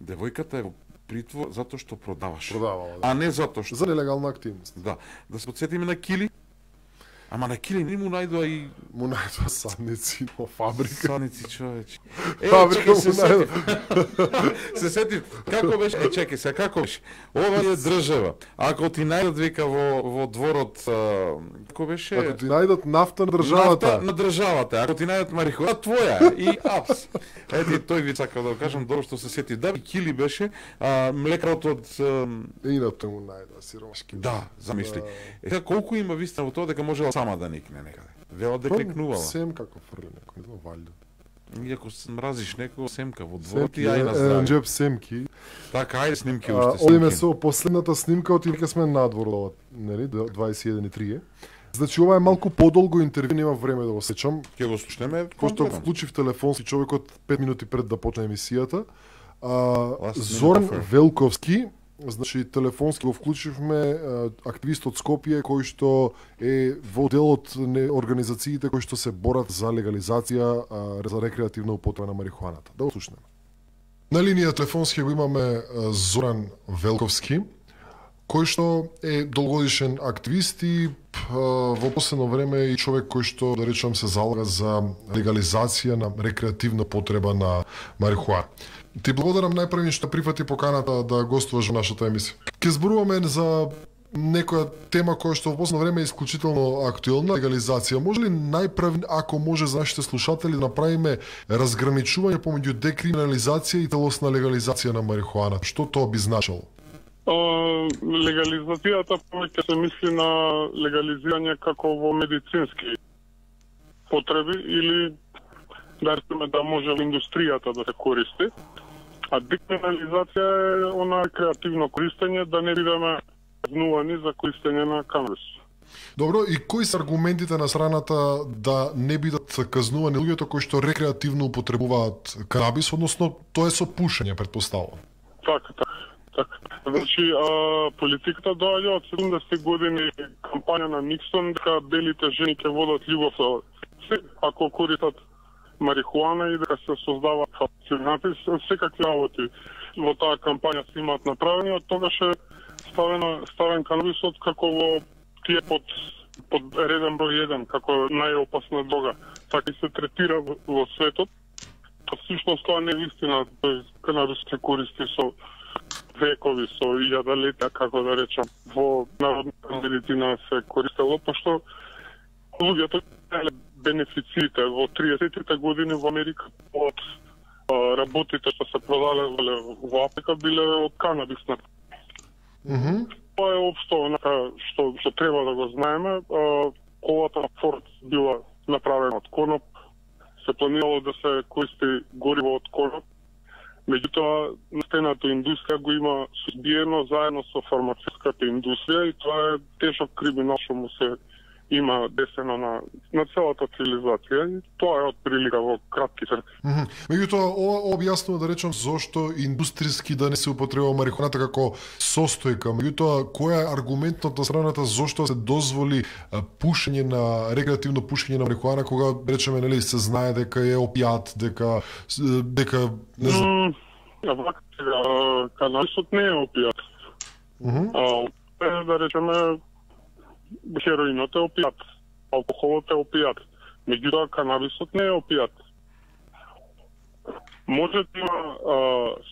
девојката е во притвор затоа што продаваш. Продавала, да. А не затоа што За нелегална активност. да, да се подсетиме на Кили. Ама на Кили не му најдоа и Му најдоа садници во фабрика. саници, човече. Е, Фабрика чекай, му се најдоа. сетив. Се сетив, како беше? Е, чекай, се како беше? Ова е држава. Ако ти најдат вика во во дворот, а, како беше? Ако ти најдат нафта на државата, Нафта на државата. Ако ти најдат марихуана, твоја е. И апс. Ети тој ви сакал да го кажам, добро што се сети. Да, Кили беше, а, млекарот од а, ината му најдоа сиромашки. да, замисли. Е, сега, колку има вистина во тоа дека можела сама да никне некаде. Велат дека никнувала. Сем како фрли некој, не валјда. Иако се мразиш некој семка во дворот Семки, и ај на еден здраве. джеб семки. Така, ајде снимки А, уште Одиме снимки. со последната снимка, од веќе сме надвор ова, нели, дваесет и еден и три. Значи ова е малку подолго интервју, нема време да го сечам. Ќе го слушнеме. Пошто комплетно. вклучив телефонски човекот пет минути пред да почне емисијата. А, Last minute Зоран offer. Велковски, значи телефонски го вклучивме, а, активист од Скопје кој што е во дел од не- организациите кои што се борат за легализација а, за рекреативна употреба на марихуаната. Да го слушнеме. На линија телефонски го имаме а, Зоран Велковски, кој што е долгодишен активист и п, во последно време и човек кој што, да речам, се залага за легализација на рекреативна потреба на марихуана. Ти благодарам најпрви што прифати поканата да гостуваш во нашата емисија. Ке зборуваме за некоја тема која што во последно време е исклучително актуелна, легализација. Може ли најпрви, ако може за нашите слушатели, да направиме разграничување помеѓу декриминализација и целосна легализација на марихуана? Што тоа би значило? А, легализацијата повеќе се мисли на легализирање како во медицински потреби или да речеме да може во индустријата да се користи. А декриминализација е она креативно користење да не бидеме казнувани за користење на канабис. Добро, и кои се аргументите на страната да не бидат казнувани луѓето кои што рекреативно употребуваат канабис, односно тоа е со пушење, претпоставувам? Така, така. така. Значи, а, политиката доаѓа од седумдесетте години, кампања на Никсон, дека белите жени ќе водат љубов се, ако користат марихуана и дека се создаваат фалцинати, секакви работи во таа кампања се имаат направени, од тогаш е ставен, ставен канабисот како во тие под, под реден број еден, како најопасна дрога. Така и се третира во, во светот. Всушност тоа не е вистина, канабис се користи со векови, со илјадалетја, како да речам, во народната медицина се користело, пошто луѓето бенефициите во триесеттите години во Америка од работите што се продавале во Африка биле од канабис. Mm -hmm. Тоа е општо онака што што треба да го знаеме. Колата на Форд била направена од коноп, се планирало да се користи гориво од коноп. Меѓутоа, нафтената индустрија го има сузбиено заедно со фармацевската индустрија и тоа е тешок криминал што му се има десено на, на целата цивилизација и тоа е од прилика во кратки црти. Mm -hmm. Меѓутоа, ова објаснува да речем зошто индустријски да не се употребува марихуаната како состојка. Меѓутоа, која е аргументот на страната зошто се дозволи а, пушење на рекреативно пушење на марихуана кога речеме нели се знае дека е опијат, дека дека не знам. Mm, вака сега канабисот не е опијат. Mm -hmm. А, да речеме хероинот е опијат, алкохолот е опијат, меѓутоа канабисот не е опијат. Може да има а,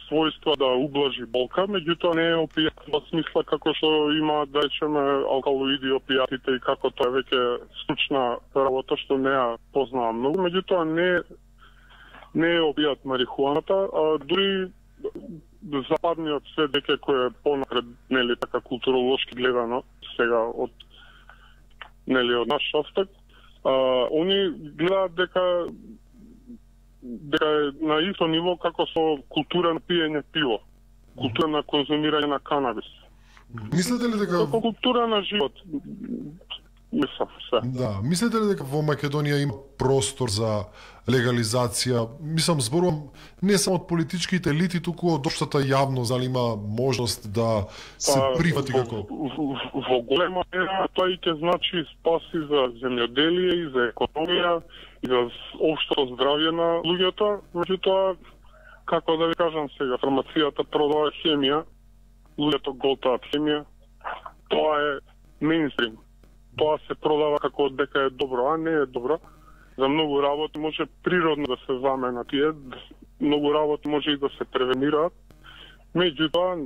својства да ублажи болка, меѓутоа не е опијат во смисла како што има, да речеме, алкалоиди опијатите и како тоа е веќе случна работа што не ја познавам многу, меѓутоа не, не е опијат марихуаната, а дури западниот свет веќе кој е понапред, нели така културолошки гледано сега од нели од наш аспект, а, они гледаат дека дека е на исто ниво како со култура на пиење пиво, култура на конзумирање на канабис. Мислите ли дека како култура на живот? Мислам, се. Да, мислите ли дека во Македонија има простор за легализација? Мислам, зборувам не само од политичките елити, туку од општата јавност, дали има можност да се прифати во, како... Во, во голема мера тоа и ќе значи спаси за земјоделие и за економија и за општо здравје на луѓето, меѓутоа, како да ви кажам сега, фармацијата продава хемија, луѓето голтаат хемија, тоа е мејнстрим. Тоа се продава како дека е добро, а не е добро. За многу работи може природно да се замена тие, многу работи може и да се превенираат. Меѓутоа,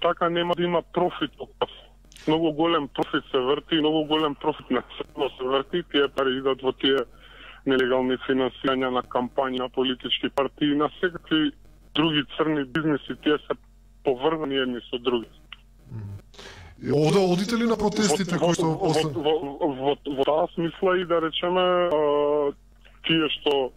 така нема да има профит од тоа. Многу голем профит се врти, многу голем профит на црно се врти, тие пари идат во тие нелегални финансирања на кампањи на политички партии, на секакви други црни бизнеси, тие се поврзани едни со други. Ода одите ли на протестите кои што после... Во, во, во, во таа смисла и да речеме а, тие што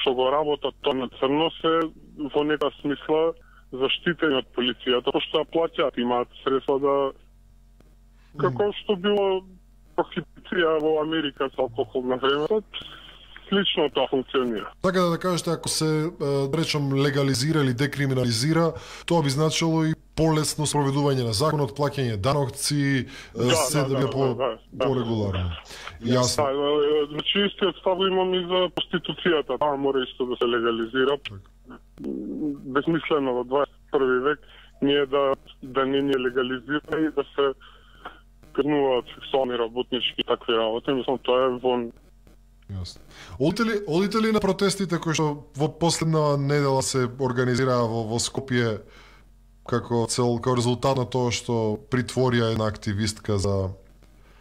што го работат тоа на црно се во нека смисла заштитени од полицијата, пошто ја плаќаат, имаат средства да како што било прохибиција во Америка со алкохол на времето, слично тоа функционира. Така да да кажете, ако се да речем легализира или декриминализира, тоа би значило и полесно спроведување на законот, плаќање данокци, да, се да, да, би да, по да, да, порегуларно. Јасно. Да, значи истиот став имам и за проституцијата, таа мора исто да се легализира. Безмислено во дваесет и први век ние да да не ни легализира и да се казнуваат сексуални работнички и такви работи, мислам тоа е вон. Јасно. Одите ли, одите ли на протестите кои што во последна недела се организираа во, во Скопје како цел, како резултат на тоа што притворија една активистка за...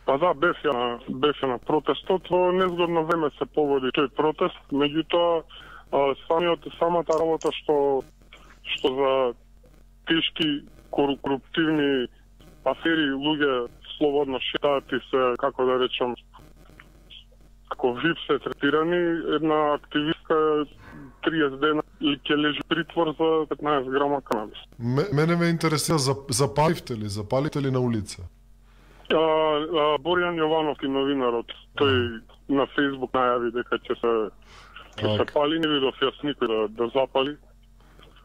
Па да, бев ја, бев ја на протестот, во незгодно време се поводи тој протест, меѓутоа самиот самата работа што што за тешки коруптивни афери луѓе слободно шетаат и се, како да речам, како вип се третирани, една активистка триесет дена или ќе лежи притвор за петнаесет грама канабис. Мене ме интересира, за, запаливте ли, запаливте ли на улица? А, а, Боријан Јовановски, новинарот, тој на Фејсбук најави дека ќе се ќе се пали, не видов јас никој да, да запали.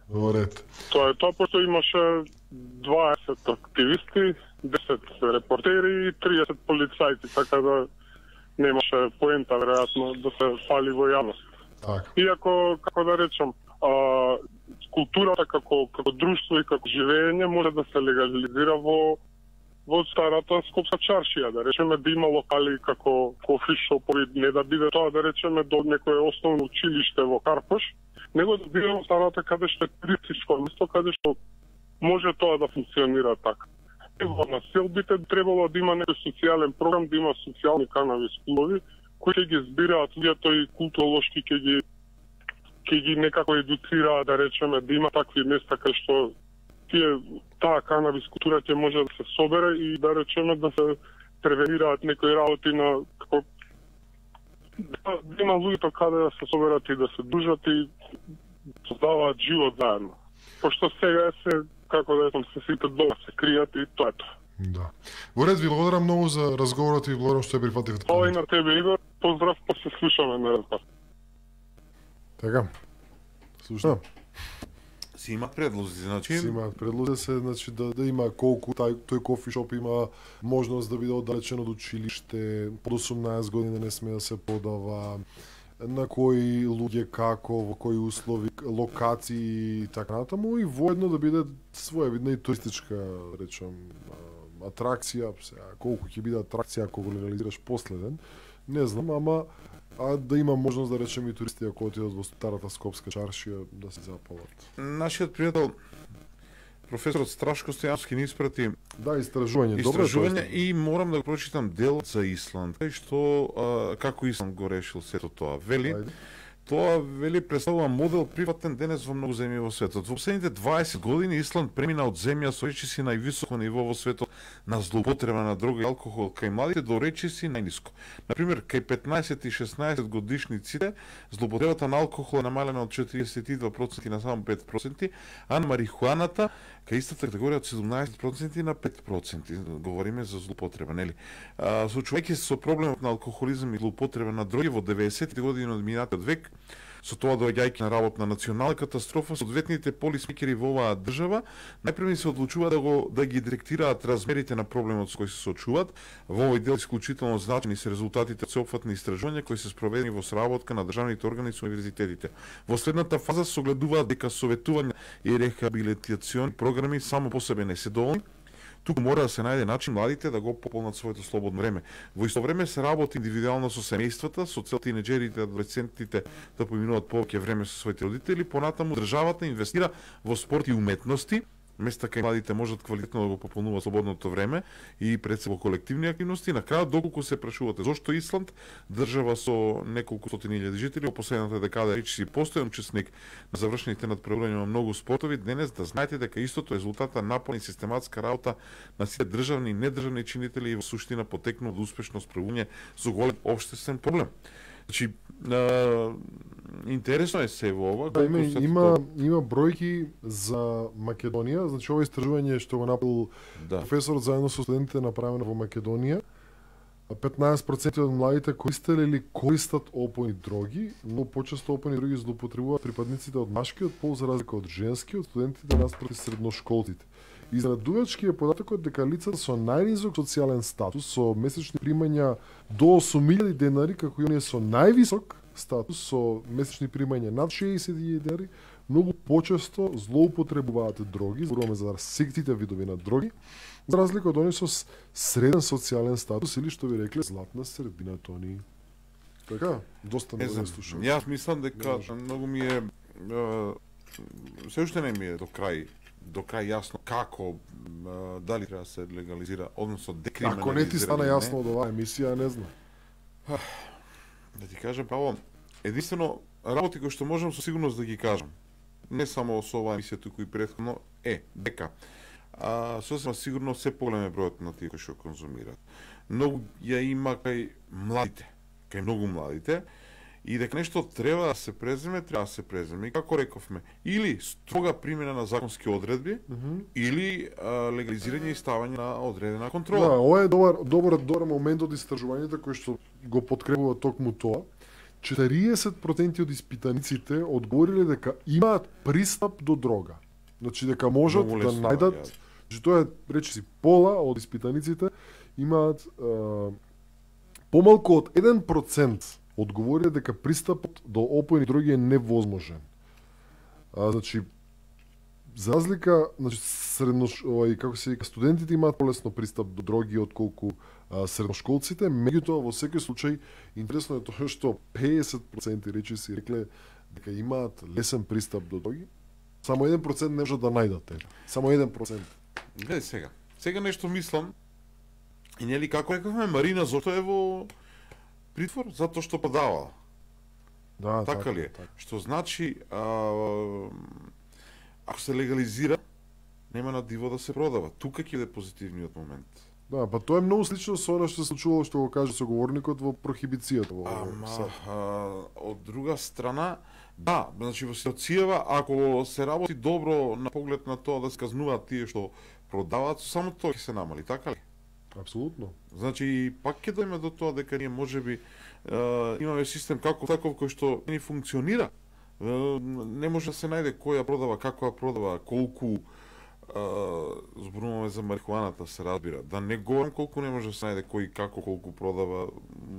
Во ред. Тоа е тоа, пошто имаше дваесет активисти, десет репортери и триесет полицајци, така да немаше поента веројатно да се пали во јавност. Так. Иако, како да речам, а, културата како како друштво и како живење може да се легализира во во старата Скопска чаршија, да речеме да има локали како кофи шопови, не да биде тоа да речеме до некое основно училиште во Карпош, него да биде во старата каде што е туристичко место, каде што може тоа да функционира така. И во населбите требало да има некој социјален програм, да има социјални канабис клубови кои ќе ги збираат луѓето и културолошки ќе ги ќе ги некако едуцираат, да речеме, да има такви места кај што тие таа канабис култура ќе може да се собере и да речеме да се превенираат некои работи на како да, да има луѓето каде да се соберат и да се дружат и создаваат живот заедно. Пошто сега се како да речем се сите дома се кријат и тоа е тоа. Да. Во ред, ви благодарам многу за разговорот и благодарам што ја прифативте. Ова и на тебе, Игор. Поздрав, па се слушаме на разговор. Така. Слушам. Си имаат предлози, значи Си имаат предлози се, значи да да има колку тај тој кофишоп има можност да биде оддалечен од училиште, под осумнаесет години не сме да се подава, на кои луѓе како, во кои услови, локации и така натаму, и воедно да биде своевидна и туристичка, речам, атракција, сега колку ќе биде атракција ако го легализираш последен, не знам, ама а да има можност да речем и туристи ако отидат во старата Скопска чаршија да се запалат. Нашиот пријател професорот Страшко Стојановски ни испрати Да, истражување, добро истражување и морам да го прочитам дел за Исланд, кај што а, како Исланд го решил сето тоа. Вели, Ајде. Тоа вели представува модел приватен денес во многу земји во светот. Во последните дваесет години Исланд премина од земја со речиси највисоко ниво во светот на злоупотреба на дрога и алкохол кај младите до речиси најниско. Например, кај петнаесет и шеснаесет годишниците злоупотребата на алкохол е намалена од четириесет и два проценти на само пет проценти, а на марихуаната кај истата категорија од седумнаесет проценти на пет проценти. Говориме за злоупотреба, нели? А, соочувајќи се со проблемот на алкохолизам и злоупотреба на дроги во деветдесетите години од минатиот век, со тоа доаѓајќи на работ на национална катастрофа, соодветните полисмекери во оваа држава најпрви се одлучува да го да ги директираат размерите на проблемот со кој се соочуваат. Во овој дел исклучително значени се резултатите од сеопфатни истражувања кои се спроведени во соработка на државните органи со универзитетите. Во следната фаза се огледуваат дека советување и рехабилитациони програми само по себе не се доволни. Туку мора да се најде начин младите да го пополнат своето слободно време. Во исто време се работи индивидуално со семејствата, со цел тинеџерите и адолесцентите да поминуваат повеќе време со своите родители, понатаму државата инвестира во спорт и уметности, места кај младите можат квалитетно да го пополнуваат слободното време и пред се во колективни активности. На крајот, доколку се прашувате зошто Исланд, држава со неколку стотини илјади жители, во последната декада речиси постојан учесник на завршените надпреварувања на многу спортови, денес да знаете дека истото резултата напорна и систематска работа на сите државни и недржавни чинители и во суштина потекнува од успешно справување со голем општествен проблем. Значи, а, интересно е се во ова. Да, има, колку се има, тоа- има бројки за Македонија, значи ова истражување што го направил Да. професорот заедно со студентите направено во Македонија. петнаесет проценти од младите користеле или користат опојни дроги, но почесто опојни дроги злоупотребуваат припадниците од машкиот пол за разлика од женскиот, студентите наспроти средношколците. Изненадувачки е податокот дека лицата со најнизок социјален статус, со месечни примања до осум илјади денари, како и оние со највисок статус, со месечни примања над шеесет илјади денари, многу почесто злоупотребуваат дроги, зборуваме за сите видови на дроги, за разлика од оние со с- среден социјален статус или што ви рекле златна средина тони. Така, доста Не не знам, слушам. јас мислам дека Не може. многу ми е е, се уште не ми е до крај до крај јасно како е, дали треба да се легализира, односно декриминализира. Ако не ти стана или не. јасно од оваа емисија, не знам. Да ти кажам право, единствено работи кои што можам со сигурност да ги кажам, не само со оваа емисија, туку и претходно, е дека а, сосема сигурно се поголем е бројот на тие кои што конзумираат. Многу ја има кај младите, кај многу младите, и дека нешто треба да се преземе, треба да се преземе. И како рековме, или строга примена на законски одредби, mm -hmm. или а, легализирање и ставање на одредена контрола. Да, ова е добар, добар, добар момент од истражувањето кој што го подкрепува токму тоа. четириесет проценти од испитаниците одговориле дека имаат пристап до дрога. Значи дека можат да најдат, ја. Значи тоа е, речиси, пола од испитаниците имаат а, помалку од еден процент одговориле дека пристапот до опојни дроги е невозможен. А, значи, за разлика, значи, средно, овај, како се вика, студентите имаат полесно пристап до дроги отколку а, средношколците, меѓутоа во секој случај интересно е тоа што петдесет проценти речи си рекле дека имаат лесен пристап до дроги, само еден процент не можат да најдат ева. Само еден процент. Гледај сега. Сега нешто мислам и нели како рековме Марина зошто е во притвор затоа што продавала. Да, така, така ли е? Така. Што значи а, ако се легализира нема на диво да се продава. Тука ќе биде позитивниот момент. Да, па тоа е многу слично со она што се случувало, што го каже соговорникот во прохибицијата во Ама, а, од друга страна, да, значи во ситуацијава ако се работи добро на поглед на тоа да се казнуваат тие што продаваат, само тоа ќе се намали, така ли? Апсолутно. Значи, пак ќе дојме до тоа дека ние можеби е, имаме систем како таков кој што не функционира. Е, не може да се најде кој ја продава, како ја продава, колку е, зборуваме за марихуаната, се разбира. Да не говорам колку не може да се најде кој како колку продава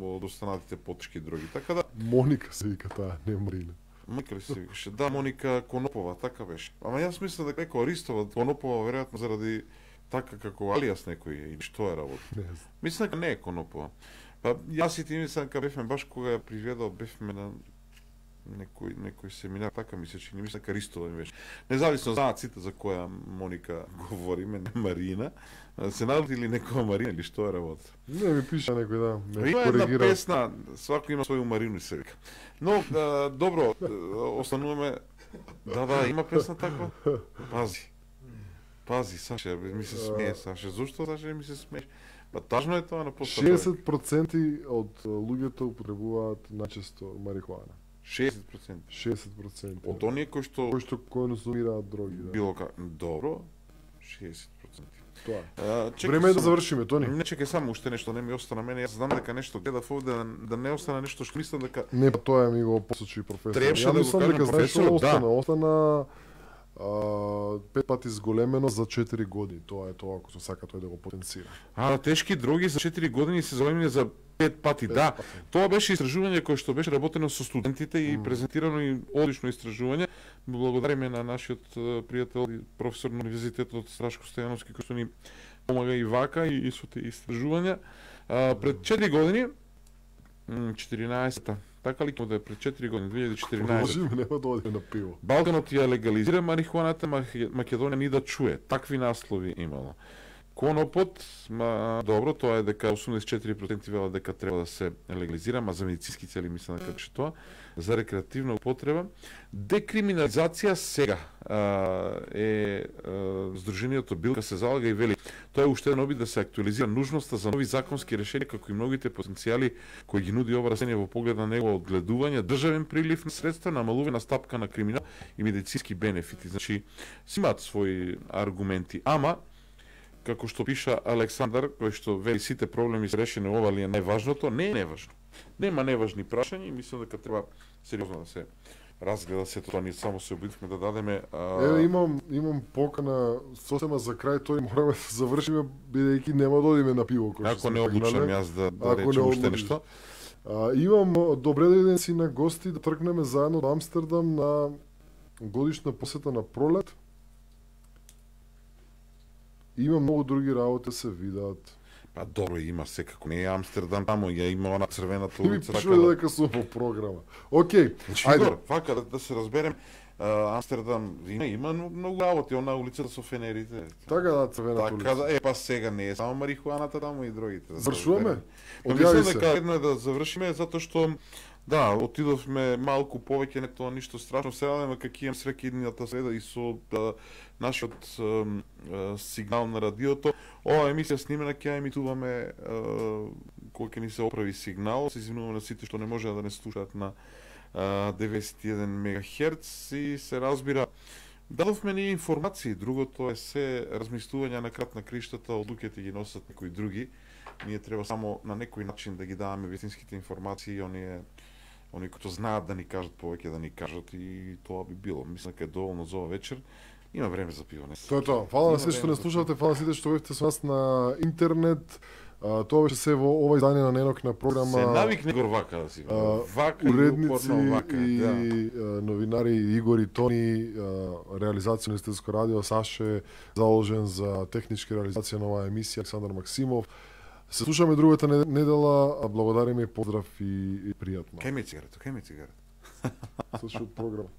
од останатите потешки дроги. Така да Моника се вика таа, не Марина. Моника ли се викаше? Да, Моника Конопова, така беше. Ама јас мислам дека некој Аристова Конопова веројатно заради така како алијас некој е, или што е работа. Не знам. Мислам дека не е Конопова. Па јас и ти мислам дека бевме баш кога ја приведал, бевме на некој некој семинар, така ми се чини, мислам дека Ристова ми беше. Независно знаат сите за која Моника говориме, не Марина. Се најде или некоја Марина или што е работа. Не ми пиша некој, да, ме Има една коригира. песна, свако има своју Марину се вика. Но а, добро, остануваме. Да, да, има песна таква. Пази. Пази, Саша, ми се смее, Саша. Зошто, Саша, ми се смееш? Па тажно е тоа на постапот. шеесет проценти од луѓето употребуваат начесто марихуана. шеесет проценти. шеесет проценти. Од оние кои што кои што конзумираат дроги, да. било как добро, шеесет проценти. Тоа е. А, чекай Време е да само- завршиме, Тони. Не чекај само уште нешто, не ми остана мене. Јас знам дека нешто гледав овде да, да не остане нешто што мислам дека Не, па тоа ми го посочи професор. Требаше Ја да го мислам кажам дека знаеш што професорот, да. остана, остана а, пет пати зголемено за четири години. Тоа е тоа, ако се сака тој да го потенцира. А, тешки дроги за четири години се зголемени за пет пати. Пет Да, пати. тоа беше истражување кое што беше работено со студентите и презентирано и одлично истражување. Благодариме на нашиот е, пријател и професор на универзитетот Страшко Стојановски кој што ни помага и вака и, и со тие истражувања. А, пред четири години, м, четиринаесета, така ли ќе да е пред четири години, две илјади и четиринаесета. Продолжиме, нема да одиме на пиво. Балканот ја легализира марихуаната, Мах- Македонија ни да чуе. Такви наслови имало. Конопот, ма, добро, тоа е дека осумдесет и четири проценти велат дека треба да се легализира, ма за медицински цели мислам дека беше тоа, за рекреативна употреба. Декриминализација сега а, е а, Сдруженијето Билка се залага и вели тоа е уште еден обид да се актуализира нужноста за нови законски решенија како и многите потенцијали кои ги нуди ова растение во поглед на негово одгледување, државен прилив на средства, намалување на стапка на криминал и медицински бенефити. Значи, си имаат своји аргументи, ама како што пиша Александар, кој што вели сите проблеми се решени, ова ли е најважното, не е неважно. Нема неважни прашања и мислам дека треба сериозно да се разгледа сето тоа. Ние само се обидовме да дадеме а... Еве имам имам покана сосема за крај, тој мораме да завршиме бидејќи нема да одиме на пиво кој што ако сме не одлучам тргнале. јас да, да Ако не речем уште одлучиш. нешто. А, имам добре дојден си на гости да тргнеме заедно до Амстердам на годишна посета на пролет. Има многу други работи да се видат. Па добро, има секако, не е Амстердам, тамо ја има она црвената Ти ми улица. пишува да- дека сум во програма. Океј, Значи, ајде. Игор, вака да, да се разберем, а, Амстердам има, има многу работи, она улицата со фенерите. Така да, црвената Така улица. да, е па сега не е само марихуаната, таму и другите. Да се Завршуваме? разбереме. Па Одјави мислам се. дека едно е да завршиме затоа што да, отидовме малку повеќе, не тоа ништо страшно. Се радаме како имам среќа иднината среда и со да, нашиот ем, е, сигнал на радиото. Ова емисија снимена ќе ја емитуваме е, кога ќе ни се оправи сигнал, се извинувам на сите што не можеа да не слушаат на деветдесет и еден мегахерц и се разбира дадовме ни информации, другото е се размислување на крат на криштата, одлуките ги носат некои други. Ние треба само на некој начин да ги даваме вистинските информации, оние оние кои знаат да ни кажат повеќе да ни кажат и тоа би било. Мислам дека е доволно за ова вечер. Има време за пиване. Тоа е тоа. Фала на сите што не слушате, фала на сите што бевте со нас на интернет. А, тоа беше се во ова издание на Ненокна програма. Се навикне гор вака да си. Вака уредници и вака, и да. а, новинари Игор и Тони, а, реализација на Студентско радио, Саше заложен за технички реализација на оваа емисија, Александар Максимов. Се слушаме другата недела, а благодариме, поздрав и, и пријатно. Кај ми цигарето, кај ми цигарето. Слушаат програма.